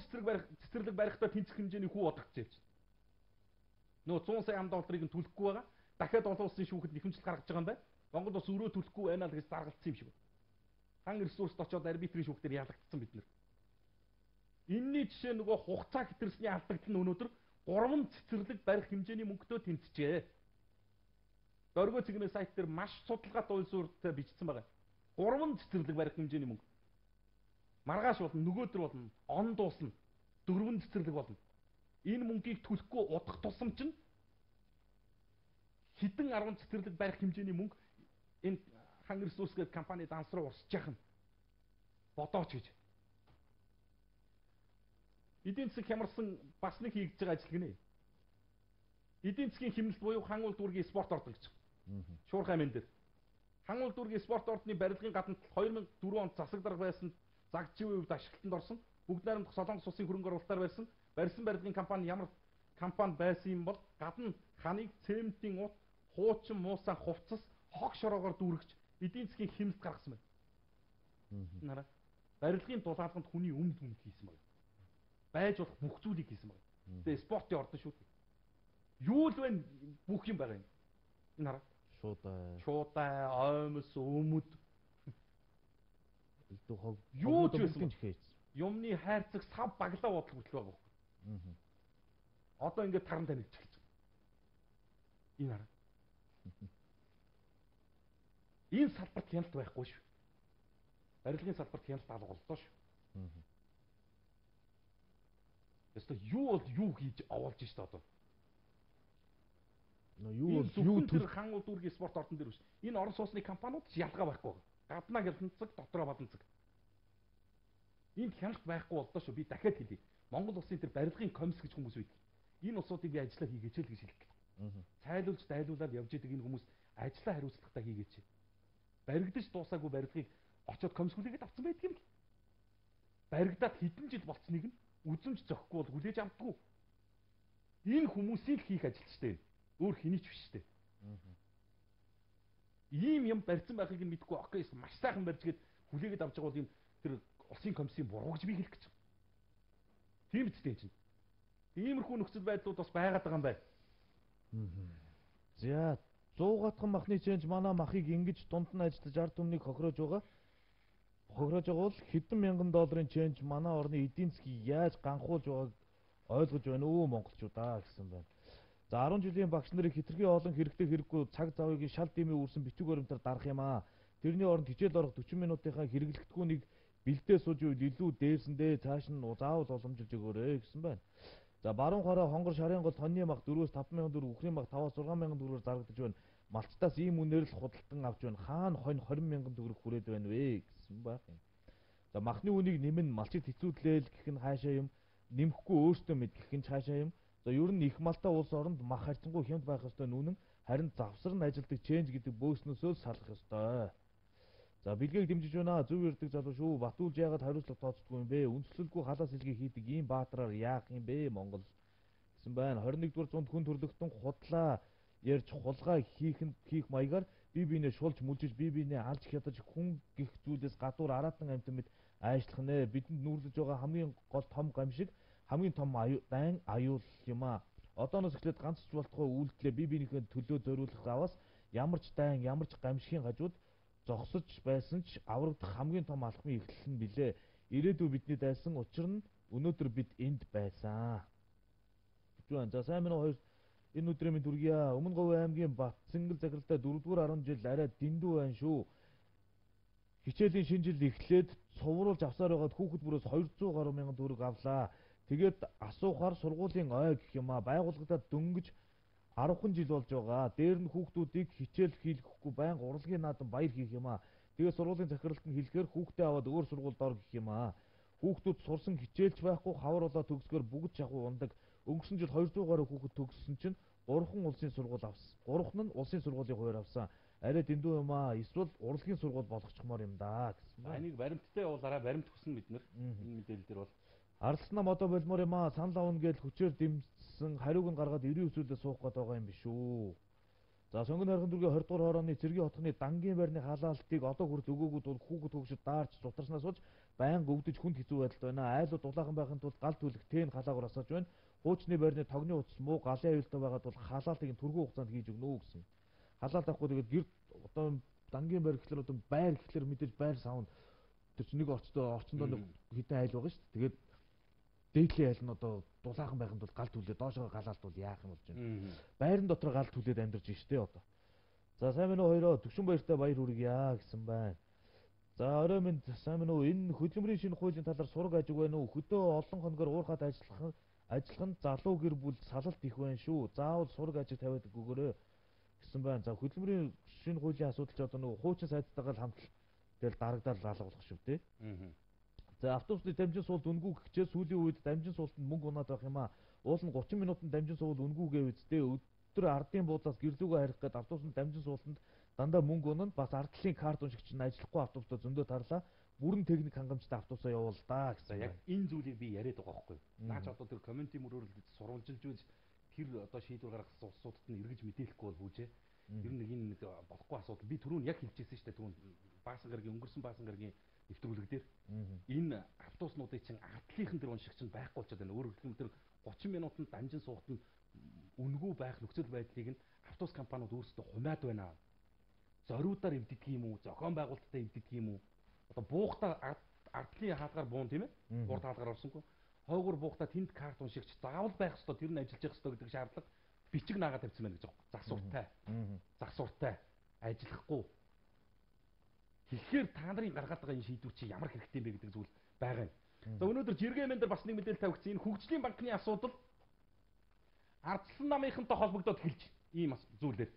цэцэрлэг барихтаа тэнцэх хэмжээний хүү бодогдож явж байна. Нөө 100 сая ам долларыг нь төлөхгүй байгаа. Дахиад олон улсын шүүхэд нэхэмжил гаргаж байгаа юм байна. Монгол бас өрөө төлөхгүй байна л гэж заргалцсан юм шиг байна. Хан ресурст очоод арбитрийн шүүхтэр ялагдсан бид нар. Энэний жишээ нөгөө хугацаа хэтэрсний алдагт нь өнөөдөр 3 цэцэрлэг барих хэмжээний мөнгөтэй тэнцжээ. Дөрвөө цэгний сайт дээр маш судалгаатай уул суурьтай бичсэн байгаа. 3 цэцэрлэг барих хэмжээний мөнгө. Маргааш болно, нөгөөдөр болно, он дуусна. 4 цэцэрлэг болно. Энэ мөнгийг төлөхгүй удах тусам чинь хэдэн 10 цэцэрлэг барих хэмжээний мөнгө энэ хан ресурс гэдэг компани данс руу урсж яах нь бодооч гэж. Эдийн засаг хямарсан бас нэг хийгдэж байгаа ажил гинэ. Эдийн засгийн хэмнэлт буюу хан улс дүүргийн спорт ордог гэж. Шуурхай мэн дээр. Хан улс дүүргийн спорт ордны барилгын гадна 2004 онд засаг дарга байсан загжийн үед ашиглалтанд орсон. Бүгд найрамдах Солонгос улсын хөрөнгө оруулалтаар барьсан барилгын компани ямар компани байсан юм бол гадна ханыг цементийн ут, хуучин муусан хувцас, хог шороогоор дүүргэж эдийн засгийн хэмнэлт гаргасан байна. Нараа. Барилгын дулаалганд хүний өмд хийсэн байна. Байж болох бүх зүйлийг хийсэн байна. Тэгээ спортын ордон шүү. Юу л вэ бүх юм байгаа юм. Энэ хараа. Шуудай, оймос, өмд. Юу ч байсан гэж. Юмны хайрцаг сав баглаа бодлого хөтлөө байгаа юм. Одоо ингээд таран танилж эхэлж байна. Энэ хараа. Энэ салбарт хяналт байхгүй шүү. Барилгын салбарт хяналт алга боллоо шүү. Ястаа юу бол юу хийж овоолж штэ одоо. Юу бол юу тэр хан улс дүүргийн спорт ордон дээр биш. Энэ орон сууцны компаниуд ч ялгаа байхгүй. Гаднаа хяналтцаг, дотроо баданцаг. Энд хяналт байхгүй боллоо шүү. Би дахиад хэлье. Монгол улсын тэр барилгын комисс гэж хүмүүс үйдэг. Энэ улсуудыг би ажиллаа хийгээч л гэж хэлдэг. Цайлуулж дайлуулаад явж идэг энэ хүмүүс ажиллаа хариуцлагатай хийгээч. баригдаж дуусаагүй барилгыг очоод комисс хүлээгээд авсан байдаг юм л. Баригдаад хэдэн жил болцсныг нь үзэмж зөхгүй бол хүлээж авдаггүй. Энэ хүмүүсийн л хийх ажилчтай. Өөр хэний ч биш штэ. Ийм юм барьсан байхыг нь мэдгүй окей маш сайхан барьжгээд хүлээгээд авч байгаа бол юм тэр улсын комиссийн буруу гэж би хэлэх гэж. Тийм үстэй чинь. Иймэрхүү нөхцөл байдлууд бас байгаад байгаа юм байна. За 100 гатхан махны чэнж манай махыг ингэж дунд нь ажиллаж ард түмнийг хохироож байгаа. Хохироож байгаа бол хэдэн мянган долларын чэнж манай орны эдийн засгийг яаж ганхуулж байгааг ойлгож байна уу монголчуудаа гэсэн байна. За 10 жилийн багш нарыг хэтэрхий олон хэрэгтэй хэрэггүй цаг завыг шал дэмий үрсэн бичиг баримтаар дарах юм аа. Тэрний оронд хичээл орох 40 минутынхаа хэрэглэхдэггүй нэг бэлдээ сууж үед илүү дээрсэндээ цааш нь заавал уламжилж өгөөрэй гэсэн байна. За баруун хороо хонгор шарын гол тонны мах 4-5 мянган төгрөг, үхрийн мах 5-6 мянган төгрөгөөр зарагдаж байна. Малчтаас ийм үнээр л худалдан авч байна. Хаана хонь 20 мянган төгрөг хүрээд байна вэ гэсэн байх юм. За махны үнийг нэмэн малчид хэцүүдлээл гэх нь хаашаа юм. Нэмэхгүй өөртөө мэдгэх нь хаашаа юм. За ер нь их малтай улс оронд мах харьцангуй хямд байх ёстой нүнэн харин завсар нь ажилдаг чэнж гэдэг бөөснөөсөө л салах ёстой. За бэлгээг дэмжиж байна. Зөв ярддаг залуу шүү. Батүүлж яагаад хариуцлага тооцдгүй юм бэ? Үндэслэлгүй халаас илгээ хийдэг ийм баатраар яах юм бэ Монгол гэсэн байна. 21-р зуунд хүн төрлөختөн худлаа ярьж хулгай хийх маягаар бие биенээ шулж мүлжиж бие биенээ алж хядаж хүн гих зүйлээс гадуур аратан амьтан мэд айшлах нэ. Бидэнд нүүрлэж байгаа хамгийн гол том гамшиг хамгийн том дайн аюул юм аа. Одооноос эхлээд ганц ч болтугай үйлдэлээ бие биенийхээ төлөө зориулах аваас ямар ч дайн ямар ч гамшигын хажууд зогсож байсан ч аврагдах хамгийн том алхмын эхлэл нь билээ. Ирээдүй бидний дайсан учир нь өнөөдөр бид энд байсан. За сайн минь хоёр энэ өдрийн минь дүргийа. Өмнө Говь аймгийн Батцэнгэл захиралтай 4-р 10 жил арай дэндүү байна шүү. Хичээлийн шинэ жил эхлээд цувруулж авсаар байгаад хүүхэд бүрээс 200 гаруй мянган төгрөг авлаа. Тэгээд асуухаар сургуулийн ой гэх юм аа байгууллагадаа дөнгөж 10 жил болж байгаа. Дээр нь хүүхдүүдийг хичээл хийлгэхгүй байнга урлагийн наадам баяр хийх юм аа. Тэгээд сургуулийн захиралт нь хэлэхээр хүүхдээ аваад өөр сургуульд ор гэх юм аа. Хүүхдүүд сурсан хичээлч байхгүй хавар улаа төгсгөр бүгд шахуу ундаг. Өнгөрсөн жил 200 гаруй хүүхэд төгссөн чинь 3хан улсын сургууль авсан. 3хан нь улсын сургуулийн хуваар авсан. Арай дэндүү юм аа. Эсвэл урлагийн сургууль болгочихмоор юм да гэсэн байна. Энийг баримттай явуулаарай. Баримт хүснэ бид нар. Энэ мэдээлэл дээр бол Арслана модо болмоор юм аа. Санал авна гэж хүчээр дэмжсэн хариуг нь гаргаад 90 өсвөлдөө суух гээд байгаа юм биш үү. За сонгон хайрхан дүргийн 20 дугаар хорооны цэргийн хотхны дангийн байрны халаалтыг одоо хүртэл өгөөгүй тул хүүхэд хөгшөд даарч зутарснаас болж байнга өвдөж хүнд хэцүү байдалд байна. Айлууд дулаахан байхын тулд гал түлэх тэн халаагаар асааж байна. Хуучны байрны тогны утас муу галын аюултай байгаад бол халаалтыг түргэн хугацаанд хийж өгнө гэсэн. Халаалт авахгүй тэгээд гэр одоо дангийн байр гэхэлэр одоо байр гэхэлэр мэдээж байр саунд тэр чинь нэг орчиндөө нэг хитэн айл байгаа шүү дээ. Тэгээд дээдлийн айл нь одоо дулаахан байхын тулд гал түлээ доошоо галаалт бол яах юм болж байна. Байрны дотор гал түлээд амьдарч штэ одоо. За сайн минь хоёроо төвшин баяртай баяр хүргье гэсэн байна. За орой минь сайн минь энэ хөдөлмөрийн шинэ хуулийн талаар сураг ажиг байна уу? Хөдөө олон хоногор уурхаад ажиллах нь залуу гэр бүл салалт их байна шүү. Заавал сураг ажиг тавиад өгөөрэй гэсэн байна. За хөдөлмөрийн шинэ хуулийн асуудал ч одоо нэг хуучин сайдтайгаа л хамт тэгэл дарагдаад алгуулах шүү дээ. За автобусны дамжин суулт үнгүй гэхчээ сүүлийн үед дамжин суултанд мөнгө унаад байх юм аа. Уул нь 30 минутанд дамжин суувал үнгүйгээ үсттэй. Өдөр ардын буудлаас гэрлүүгээ харих гээд автобусны дамжин суултанд дандаа мөнгө унана. Бас ардлын карт уншигч нь ажиллахгүй автобустай зөндөө тарлаа. Бүрэн техник хангамжтай автобусаа явуул да гэсэн. Яг энэ зүйлийг би яриад байгаа байхгүй. Наач одоо тэр комментийн мөрөөр сурвалжилж үз тэр одоо шийдвэр гаргах улсуудад нь эргэж мэдээлэхгүй бол хүүжээ. Ер нь энэ нэг болохгүй асуудал. Би түрүүн яг хэлчихсэн шүү дээ. Түрүүн Баасан гарагийн өнгөрсөн Баасан гарагийн нэвтрүүлэг дээр энэ автобуснуудын чинь ардлынхан тэр уншигч нь байхгүй болчиход байна. Өөрөөр хэлбэл тэр 30 минутанд дамжин суухт нь үнэгүй байх нөхцөл байдлыг нь автобус компаниуд өөрсдөө хумаад байна. Зориудаар эвддэг юм уу? Зохион байгуулалттай эвддэг юм уу? Одоо буухтаа ардлын хаалгаар буун тийм ээ? Урд хаалгаар орсонгүй. Хойгуур буухтаа тэнд карт уншигч заавал байх ёстой. Тэр нь ажиллаж явах ёстой гэдэг шаардлага бичиг наагаад тавьсан байна гэж байна. Засвартай. Засвартай. Ажиллахгүй. Тэгэхээр та нарын гаргаад байгаа энэ шийдвэр чи ямар хэрэгтэй юм бэ гэдэг зүйл байгаа юм. За өнөөдөр жиргэмэн дээр бас нэг мэдээлэл тавигдсан. Энэ хөгжлийн банкны асуудал Ардчилсан намынхантай холбогдоод эхэлж ийм зүйлээр.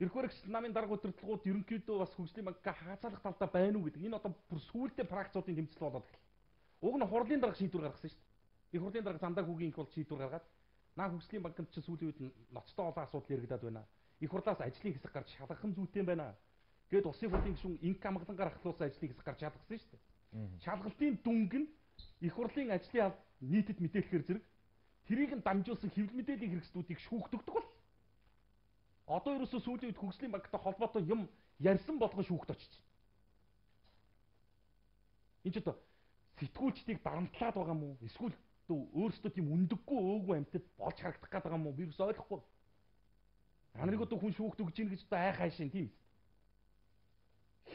Ирэх баригч намын дарга удирдлагууд ерөнхийдөө бас хөгжлийн банкаа хаацаалах талдаа байна уу гэдэг. Энэ одоо бүр сүүлдээ практикуудын тэмцэл болоод эхэллээ. Уг нь хурлын дарга шийдвэр гаргасан шүү дээ. Их хурлын дарга замдаа хүүгийн их бол шийдвэр гаргаад наа хөгжлийн банкнд чи сүүлийн үед ноцтой олон асуудал яригадаад байна. их хурлаас ажлын хэсэг гарч шалгах нь зүйтэй байна. Гээд улсын хурлын гишүүн инк амгалангаар ахлуулсан ажлын хэсэг гарч шалгасан шүү дээ. Шалгалтын дүнг нь их хурлын ажлын албад нийтэд мэдээлэхээр зэрэг тэрийг нь дамжуулсан хэвлэл мэдээллийн хэрэгслүүдийг шүүхтэгдэг бол. Одоо ерөөсөө сүүлийн үед хөгжлийн банктай холбоотой юм ярьсан болгон шүүхт очиж. Энд ч одоо сэтгүүлчдийг дарамтлаад байгаа юм уу? Эсвэл өөрсдөө тийм үндэггүй өөгүй амьтад болж харагдах гээд байгаа юм уу? Би юус ойлгохгүй. Та нарыг одоо хүн шүүхт өгж ийн гэж одоо айхаашин тийм.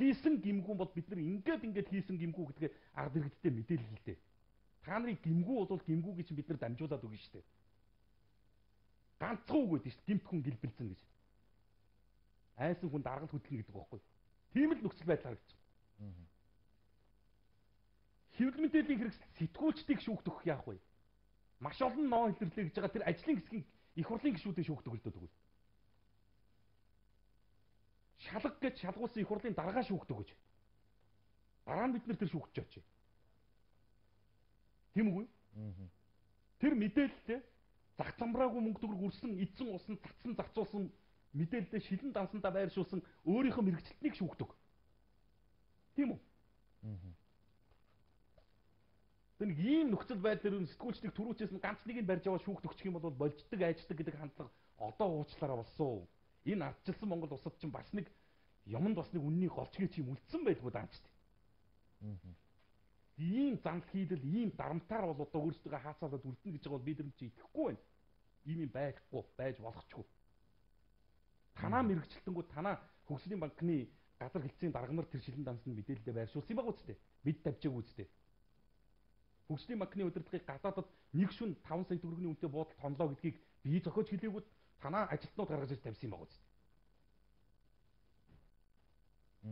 Хийсэн гимгүү бол бид нар ингээд хийсэн гимгүү гэдгээ ард иргэдтэй мэдээлэл хэлдэг. Та нарын гимгүү бол гимгүү гэж бид нар дамжуулаад өгнө шүү дээ. Ганцхан үг гэдэг шүү дээ. Гимт хүн гэлбэлцэн гэж. Айсан хүн даргал хөдлөн гэдэг байхгүй. Тийм л нөхцөл байдал харагдчих. Хэвлэл мэдээллийн хэрэгсэл сэтгүүлчдийг шүүхт өгөх яах вэ? Маш олон ноо илэрлээ гэж байгаа тэр ажлын хэсгийн их хурлын гишүүдийн шүүхт өгөлтөө тэгвэл. Шалга гэж шалгуулсан их хурлын даргаа шүүхт өгөж. Дараа нь бид нар тэр шүүхтж очие. Тийм үгүй? Тэр мэдээлэлтэй зах замраагүй мөнгө төгрөг үрсэн, эдсэн усан, цацсан, зарцуулсан мэдээлэлтэй шилэн дансандаа байршуулсан өөрийнхөө мэрэгчлэлтнийг шүүхт өг. Тийм үү? Тэр нэг ийм нөхцөл байдлаар сэтгүүлчдийг түрүүчээс нь ганц нэг нь барьж аваад шүүхт өгчих юм бол болждаг, айждаг гэдэг хандлага одоо уучлаараа болсон. Энэ ардчилсан Монгол улсад чинь бас нэг юмд бас нэг үннийг голчгийг чим үлдсэн байдгүй даанчт. Ийм занл хийдэл, ийм дарамтаар бол одоо өөрсдөө хаацаалаад үлдэнэ гэж байгаа бол бид нар чи итгэхгүй байна. Ийм юм байхгүй, байж болохчгүй. Танаа мэрэгчлэлтэнгүү танаа хөгжлийн банкны газар хэлцээний дарга нар тэр шилэн дансанд мэдээлэлдээ байршуулсан юм байгаа үстэй. Бид тавьчаагүй үстэй. Хөгжлийн банкны удирдлагыг гадаадад нэг шүн 5 сая төгрөгийн үнэтэй буудалд хонлоо гэдгийг бие зохиож хэлээгүүд танаа ажилтнууд гаргаж ирж тавьсан юм байгаа үстэй.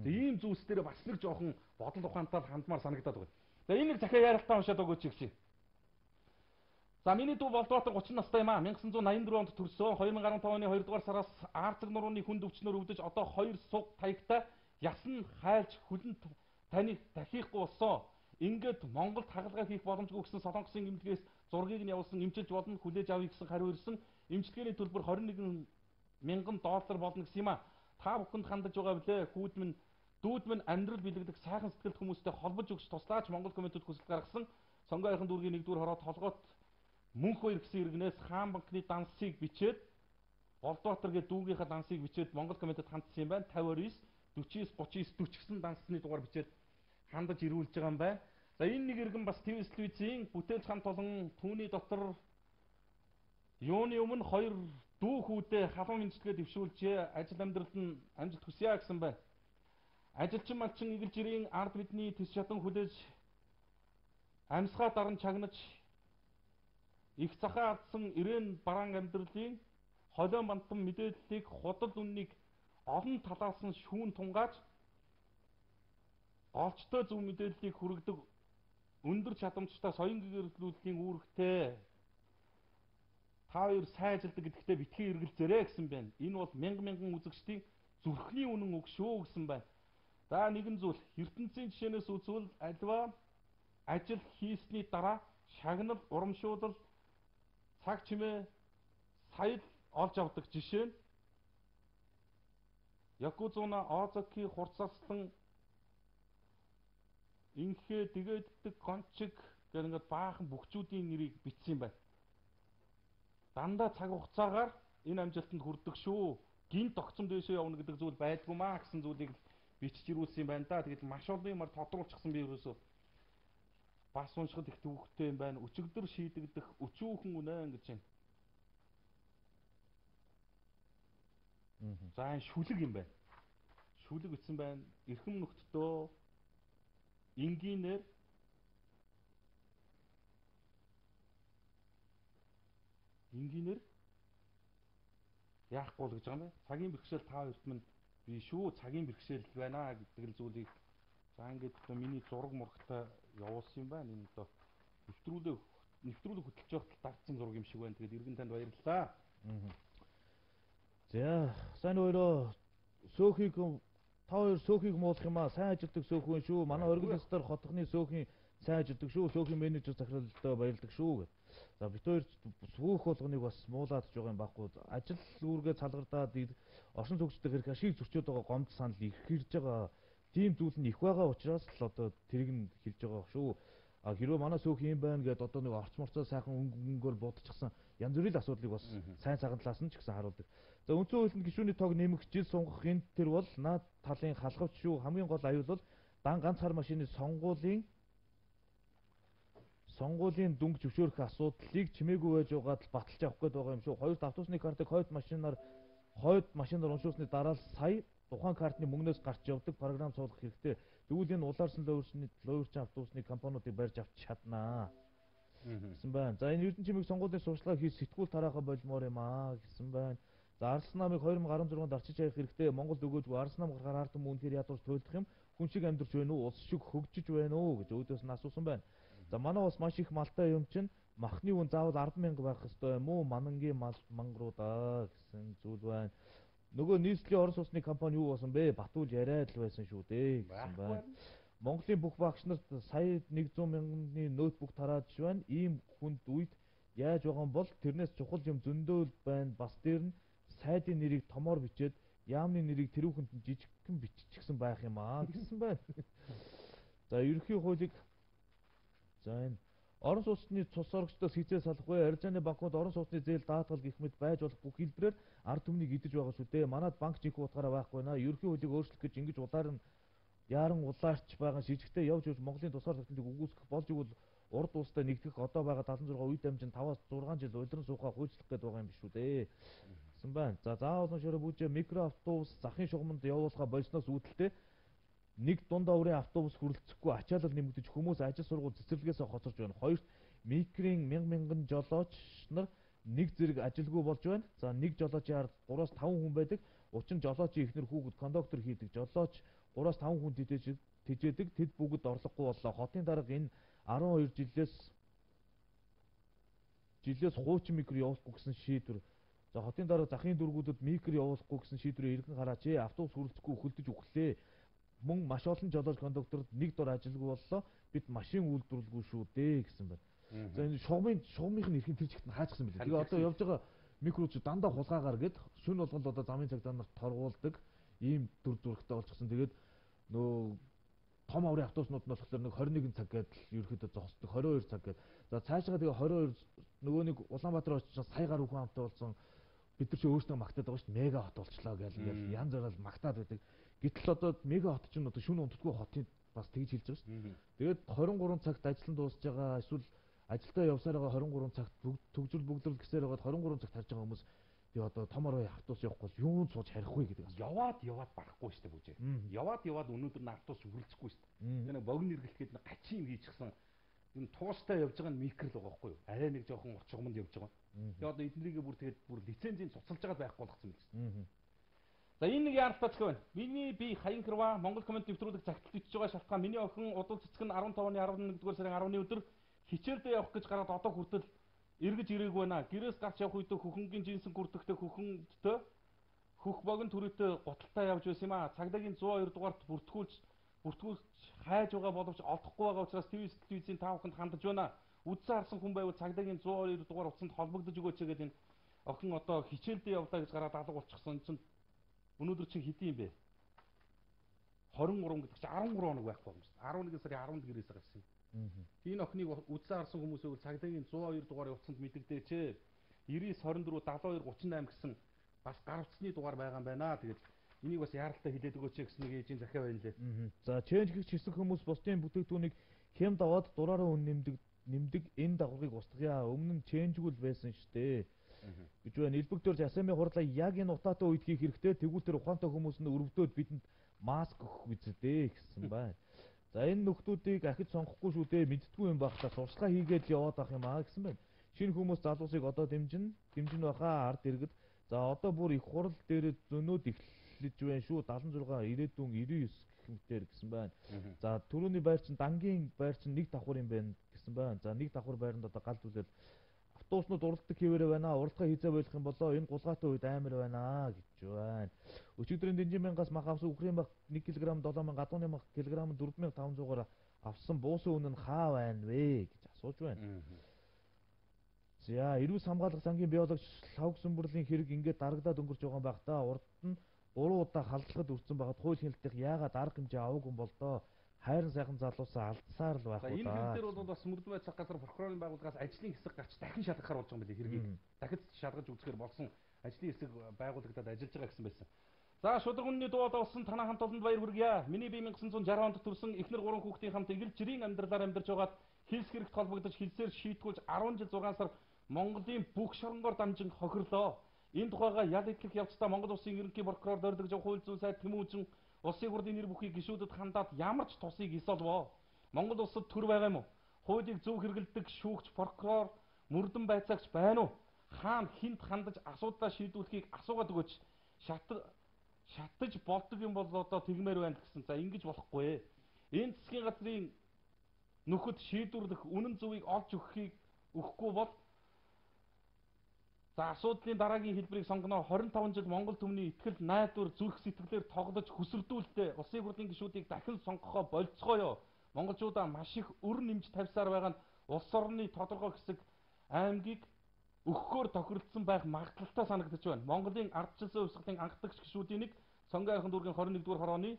Ийм зүйлс дээр бас нэг жоохон бодол ухаантай хандмаар санагдаад байна. За энэ нэг захиа ярилтаа уншаад өгөөч чи. За миний дүү Болдбаатар 30 настай юм аа. 1984 онд төрсөн. 2015 оны 2 дугаар сараас Арцаг нурууны хүнд өвчнөр өвдөж одоо 2 суг таягтай ясан хайлж хүлэн таныг дахихгүй болсон. Ингээд Монголд хагалгаа хийх боломжгүй гэсэн Солонгосын эмнэлгээс зургийг нь явуулсан эмчилж болно хүлээж авъя гэсэн хариу ирсэн. Эмчилгээний төлбөр $21,000 болно гэсэн юм аа. Та бүхэнд хандаж байгаа билээ. Дүүд минь амьдрал бэлэгдэх сайхан сэтгэлд хүмүүстэй холбож өгч туслаач Монгол комитет хүсэлт гаргасан. Сонгоойхон дүүргийн 1-р хороод толгойд мөнх хоёр гэсэн иргэнээс хаан банкны дансыг бичээд Болдбаатар гэдэг дүүгийнхаа дансыг бичээд Монгол комитет хандсан юм байна. 59 49 39 40 гэсэн дансны дугаар бичээд хандаж ирүүлж байгаа юм байна. За энэ нэг иргэн бас ТV телевизийн бүтээлч хамт олон түүний дотор юуны өмнө 2 дүү хүүдээ халуун хэмжлэгээ дэвшүүлжээ. Ажил амьдралд нь амжилт хүсье гэсэн байна. Ажилчин малчин игэл жирийн ард бидний төс шатан хүлээж амьсгаа даран чагнаж их захаа алдсан ирээн бараан амьдралын холион бантан мэдээллийг худал үннийг олон талаас нь шүүн тунгааж олчтой зөв мэдээллийг хүргэдэг өндөр чадамжтай соён гэрэлтүүллийн үүрэгтэй та хоёр сайн ажилдаг гэдэгтээ битгий эргэлзээрэй гэсэн байна. Энэ бол мянган үзэгчдийн зүрхний үнэн үг шүү гэсэн байна. За нэгэн зүйл ертөнцийн жишээнээс үзвэл альва ажил хийсний дараа шагнал, урамшуулал, цаг чимээ, саял олж авдаг жишээ нь Якузуна Озоки хурцаслан инхээ дэгээддэг гончиг гэх ингээд баахан бүхчүүдийн нэрийг бичсэн юм байна. Дандаа цаг хугацаагаар энэ амжилтанд хүрдэг шүү. Гинт огцом дэшээ явна гэдэг зүйл байдгүй маа гэсэн зүйлийг бичиж ирүүлсэн юм байна да. Тэгэл маш олон юмар тодруулчихсан би ерөөсөө бас уншихад их төвөгтэй юм байна. Өчигдөр шийдэгдэх өчүүхэн үнэн гэж байна. За энэ шүлэг юм байна. Шүлэг бичсэн байна. Эрхэм нөхдөө энгийнээр яахгүй л гэж байгаа юм байна. Цагийн бэрхшээл та хоёрт минь би шүү цагийн бэрхшээл байна гэдэг л зүйлийг за ингээд одоо миний зураг мурагтай явуулсан юм байна. Энэ одоо нэвтрүүлэг хөтлөж явахад дагцсан зураг юм шиг байна. Тэгээд иргэн танд баярлалаа. За сайн өөрөө та хоёр сөөхийг муулах юм аа. Сайн ажилтдаг сөөхөн шүү. Манай оргил ёстоор хотхны сөөхийн сайн ажилладаг шүү. Шүүхийн менежер захиралдаа баярлдаг шүү гэд. За бид хоёр сүүх болгоныг бас муулаад ч байгаа юм байхгүй. Ажил үүргээ салгардаад оршин суугчдыг хэрэг ашиг зөрчөөд байгаа гомдол санал их ирж байгаа. Тийм зүйл нь их байгаа учраас л одоо тэрийг нь хэлж байгаа шүү. А хэрвээ манай сүүх юм байна гэдээ одоо нэг орчморцоо сайхан өнгөөр будчихсан янз бүрийн асуудлыг бас сайн цагаан талаас нь ч гэсэн харуулдаг. За үндсэн хуулинд гишүүний тоог нэмэх жил сунгах энэ тэр бол наад талын халахвч шүү. Хамгийн гол аюул бол дан ганц хар машины сонгуулийн дүнг зөвшөөрөх асуудлыг чимээгүй байж байгаад л баталж авах гээд байгаа юм шүү. Хоёрт автобусны картыг хойд машинаар уншуулсны дараа л сая тухайн картны мөнгнөөс гарч явдаг програм суулгах хэрэгтэй. Тэгвэл энэ улаарсан луйрчин автобусны компаниудыг барьж авч чаднаа гэсэн байна. За энэ Эрдэнэ чимээг сонгуулийн сурчлага хийж сэтгүүл тараахаа болмоор юм аа гэсэн байна. За Арслан намыг 2016-нд арчиж хаях хэрэгтэй. Монголд өгөөжгүй Арслан нам гарахаар ард түмэн үнэхээр ядуур туйлдах юм. Хүн шиг амьдарч байна уу? Улс шиг хөгжиж байна уу гэж өөдөөс нь асуусан байна. За манай бас маш их малтай юм чинь махны үн заавал 10,000 байх ёстой юм уу? Манангийн мангаруудаа гэсэн зүйл байна. Нөгөө нийслэлийн орон сууцны компани юу болсон бэ? Батуул яриад л байсан шүү дээ гэсэн байна. Монголын бүх багш нарт сая 100,000-ны ноутбук тараад байна. Ийм хүнд үед яаж байгаа юм бол тэрнээс чухал юм зөндөөл байна. Бас дээр нь сайдын нэрийг томоор бичээд яамны нэрийг тэрүүхэнд нь жижигхэн биччихсэн байх юм аа гэсэн байна. За ерөнхий хуулийг энэ орон сууцны цус орогчдоос хизээ салах вэ? Аризаны банкуд орон сууцны зээл даатгал гэх мэт байж болох бүх хэлбэрээр ард түмнийг идэж байгаа шүү дээ. Манад банк жинхэнэ утгаараа байхгүй наа. Ерөнхий хуулийг өөрчлөх гэж ингэж яаран улаарч байгаа шижигтэй явж Монголын тусгаар тогтнолыг үгүйсгэх болж игэл урд улстай нэгдэх одоо байгаа 76 үе дамжин 5-аас 6 жил улиран суухаа хөөцлөх гээд байгаа юм биш үү дээ. Гэсэн байна. За заавал шороо бүжээ микроавтобус захын шугамд явуулахаа болсноос үүдэлтэй нэг дундаа өрийн автобус хүрэлцэхгүй ачаалал нэмэгдэж хүмүүс ажил сургууль цэцэрлэгээс хоцорж байна. Хоёрт микрийн мянган жолооч нар нэг зэрэг ажилгүй болж байна. За нэг жолоочийн ард 3-5 хүн байдаг. Учир нь жолоочийн ихнэр хүүхэд кондуктор хийдэг. Жолооч 3-5 хүн тижээдэг. Тэд бүгд орлогогүй боллоо. Хотын дарга энэ 12 жилээс хуучин микро явуулахгүй гэсэн шийдвэр. За хотын дарга захын дүүргүүдэд микро явуулахгүй гэсэн шийдвэрээ эргэн хараач. Автобус хүрэлцэхгүй хөлдөж өглөө. Мөн маш олон жолооч кондукторд нэг дор ажилгүй боллоо. Бид машин үйлдвэрлэгүй шүү дээ гэсэн байна. За энэ шугамынх нь эрхийн тэр чигт нь хаачсан билээ. Тэгээ одоо явж байгаа микроч дандаа хулгаагаар гээд шөнө болгонд одоо замын цагдаа нарт торгуулдаг ийм дүр зурагтай болчихсон. Тэгээд нөө том аврын автобуснууд нь болохоор нэг 21 цаг гээд ерөөхдөө зогсдог 22 цаг гээд. За цаашгаа тэгээ 22 нөгөө нэг Улаанбаатар очиж сая гаруй хүн амтай болсон. Бид нар ч өөрсдөө магтаад байгаа шүү дээ. Мега хот болчлоо гэж янз бүрээр магтаад байдаг. Гэтэл одоо мега хот чинь одоо шөнө унтдаггүй хотын бас тэгж хэлж байгаа шүү дээ. Тэгээд 23 цагт ажил нь дуусж байгаа эсвэл ажилдаа явсаар байгаа 23 цагт төгжрөл бүгдрэл гэсээр байгаа 23 цагт харж байгаа хүмүүс тэгээ одоо том орой автобус явахгүй бол юунд сууж харихгүй гэдэг. Яваад барахгүй шүү дээ бүжээ. Яваад өнөөдөр н автобус хүрэлцэхгүй шүү дээ. Тэгээ богино нэргэлтэд гачийн хийчихсэн энэ туустай явж байгаа нь микро л байгаа байхгүй юу? Арай нэг жоохон урчгамд явж байгаа. Тэгээ одоо эднэрийг бүр лицензийн цуцалж байгаа байхгүй болгосон юм байна. За энэ нэг яаралтай зохио байна. Миний би Хаян Хрва Монгол комент нэвтрүүлэг загталд ичж байгаа шалтгаан миний охин удал цэцэг нь 15-ны 11-р сарын 10-ны өдөр хичээлдээ явах гэж гараад одоо хүртэл эргэж ирээгүй байна. Гэрээс гарч явах үедээ хөхөнгийн жинсэн хүрдэгтэй хөхөндөө хөх богино төрөйтэй гуталтай явж байсан юм аа. Цагдаагийн 102 дугаарт бүртгүүлж хайж байгаа боловч олдохгүй байгаа учраас телевизийн таавханд хандаж байна. Үдсэн харсан хүн байвал цагдаагийн 102 дугаар утсанд холбогдож өгөөч гэдэг энэ охин одоо хичээлдээ явлаа гэж гараад алга болчихсон. Энэ чинь өнөөдөр чинь хэдийн юм бэ? 23 гэдэг чинь 13 хоног байхгүй юм шүү. 11 сарын 10-нд гэрээс гарсан юм. Энэ охиныг үдсэн харсан хүмүүс байвал цагдаагийн 102 дугаар утсанд мэдэгдээч. 99 24 72 38 гэсэн бас гар утасны дугаар байгаа юм байна. Тэгээд энийг бас яаралтай хэлээд өгөөч гэсэн нэг ээжийн захиа байна лээ. За change гэх хэсэг хүмүүс бусдын бүтээгдэхүүнийг хямд аваад дураараа үн нэмдэг энэ дагаврыг устгая. Өмнө нь change-гүйл байсан шүү дээ. Гэж байна. Элбэг төрж асамын хурлаа яг энэ утаатай үед хийх хэрэгтэй. Тэгвэл тэр ухаантай хүмүүс нь өрөвдөөд бидэнд маск өгөх үздэй гэсэн байна. За энэ нөхдүүдийг ахиж сонгохгүй шүү дээ. Мэдтгүй юм байх та сурчлага хийгээд яваад ах юм аа гэсэн байна. Шинэ хүмүүс залуусыг одоо дэмжин бахаа ард иргэд. За одоо бүр их хурал дээр зөнөөд эхлэж байна шүү. 76 ирээдүйн 99 гэх мэтээр гэсэн байна. За түрүүний байр чинь дангийн байр чинь нэг давхар юм байна гэсэн байна. За нэг давхар байранд одоо гал зүйлэл автобуснууд уралдаг хэвээрээ байна. Уралдаа хийзээ болох юм болоо энэ гулгаатай үед амар байна гэж байна. Өчигдрийн Дэнжин мянгаас мах авсан үхрийн мах 1 кг 7000, гадууны мах килограмм 4500-аар авсан буусан үнэ нь хаа байна вэ гэж асууж байна. За, эрүүс хамгаалах сангийн биологч Лавгсүмбүрлийн хэрэг ингээд дарагдаад өнгөрч байгаа юм байх та. Урд нь 3 удаа халдлагад өртсөн байгаад хууль хяналтынх яагаад арга хэмжээ аваагүй юм бол доо. Хайрын сайхан залуусаа алдсаар л байх уу Энэ даа. хэрэг дээр бол бас мөрдөн байцаах газар прокурорын байгууллагаас ажлын хэсэг гарч дахин шалгахаар болж байгаа юм билий хэргийг. Дахид шалгаж үзэхээр болсон ажлын хэсэг байгуулагдаад ажиллаж байгаа гэсэн байсан. За шударганы дуу доосон танаа хамт олонд баяр хүргье. Миний бие 1960 онд төрсэн эхнэр 3 хүүхдийн хамт игэл жирийн амьдралаар амьдарч байгаад хилс хэрэгт холбогдож хилсээр шийтгүүлж 10 жил 6 сар Монголын бүх шоронгоор дамжин хохирлоо. Энэ тухайга ял идлэх явцдаа Монгол Улсын ерөнхий прокурор дөрдөж хууль зүйн сайд Тэмүүжин улсын хурлын нэр бүхий гишүүдэд хандаад ямар ч тусыг исолвоо. Монгол улсад төр байгаа юм уу? Хуулийг зөв хэрэгэлдэг шүүгч прокурор мөрдөн байцаагч байна уу? Хаана хинт хандаж асуудлаа шийдвэрлэхийг асуугаад өгөөч. Шатаж болдог юм бол одоо тэгмээр байна гэсэн. За ингэж болохгүй. Энэ засгийн газрын нөхөд шийдвэрлэх үнэн зөвийг олж өгөхгүй бол за асуудлын дараагийн хэлбэрийг сонгоно. 25 жил Монгол түмний итгэл найдвар зүрх сэтгэлээр тоглож хүсэрдүүлдэ улсын хурлын гишүүдийг дахин сонгохоо болцгоё. Монголчуудаа маш их өр нэмж тавьсаар байгаа нь улс орны тодорхой хэсэг аймгийг өгөхөөр тохиролцсон байх магадлалтай санагдаж байна. Монголын ардчилсан хувьсгалын анхдагч гишүүдийн нэг Сонгой ахын дүүргийн 21-р хорооны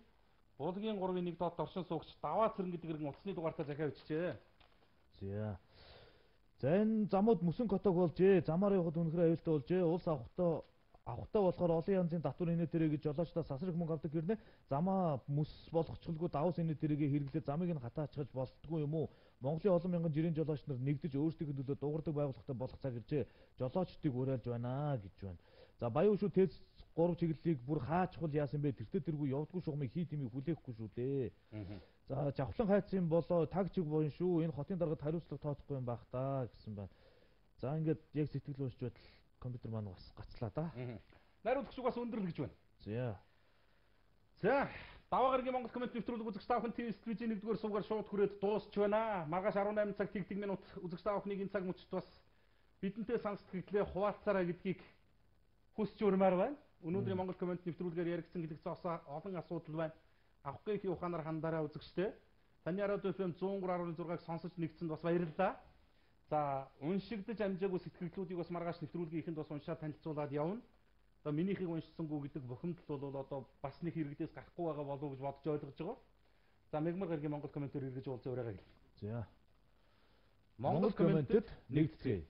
Булгийн 3-1 доод оршин суугч даваа цэрэн гэдэг иргэн утасны дугаартаа захиа бичжээ. За. За энэ замууд мөсөн котог болжээ. Замаар явахад үнэхээр аюултай болжээ. Улс авахтай болохоор олон янзын татвар инээ тэрэ гэж жолоочдоо сасрах мөнгө авдаг хэрнээ замаа мөс болгочихлгүй давс инээ тэрэгээ хэрэглээ замыг нь хатаачгаж болтгүй юм уу? Монголын олон мянган жирийн жолооч нар нэгдэж өөрсдийнхөө төлөө дуурдаг байгууллагатай болох цаг иржээ. Жолоочдыг уриалж байна гэж байна. За баян шүү тэц 3 чиглэлийг бүр хаачхул яасан бэ? Тэртээ тэргүй явдггүй шугамыг хий тэмийг хүлээхгүй шүү дээ. За жавхлан хайцсан болоо таг чиг боон шүү. Энэ хотын даргад хариуцлага тооцохгүй юм байх та гэсэн байна. За ингээд яг сэтгэл уншиж байтал компьютер маань бас гацлаа да. Найруулагч бас өндөрлө гэж байна. За даваа гарагийн Монгол коммент нэвтрүүлэг үзэгч та бүхэн ТV студийн 1-р сувгаар шууд хүрээд дуусч байна. Маргааш 18 цаг тэгдэг минут үзэгч та бүхнийг энэ цаг мөчид бас бидэнтэй сонсдогдлээ хуваалцаарай гэдгийг хүсч өрмөр байна. Өнөөдрийн Монгол коммент нэвтрүүлгээр яригдсан хэлэгцээ олон асуудал байна. Авахгүй их ухаанаар хандаараа үзэгчтэй. Таны радио FM 103.6-ыг сонсож нэгдсэнд бас баярлалаа. За уншигдаж амжаагүй сэтгэлдлүүдийг бас маргааш нэвтрүүлгийн ихэнд бас уншаад танилцуулаад явна. Одоо минийхийг уншсангүй гэдэг бухимдал бол одоо бас нэг хэрэгдээс гарахгүй байгаа болов уу гэж бодож ойлгож байгаа. За мегмар гарагийн Монгол комментээр эргэж уулзаа урайгаа гэл. За. Монгол комментэд нэгдэцгээе.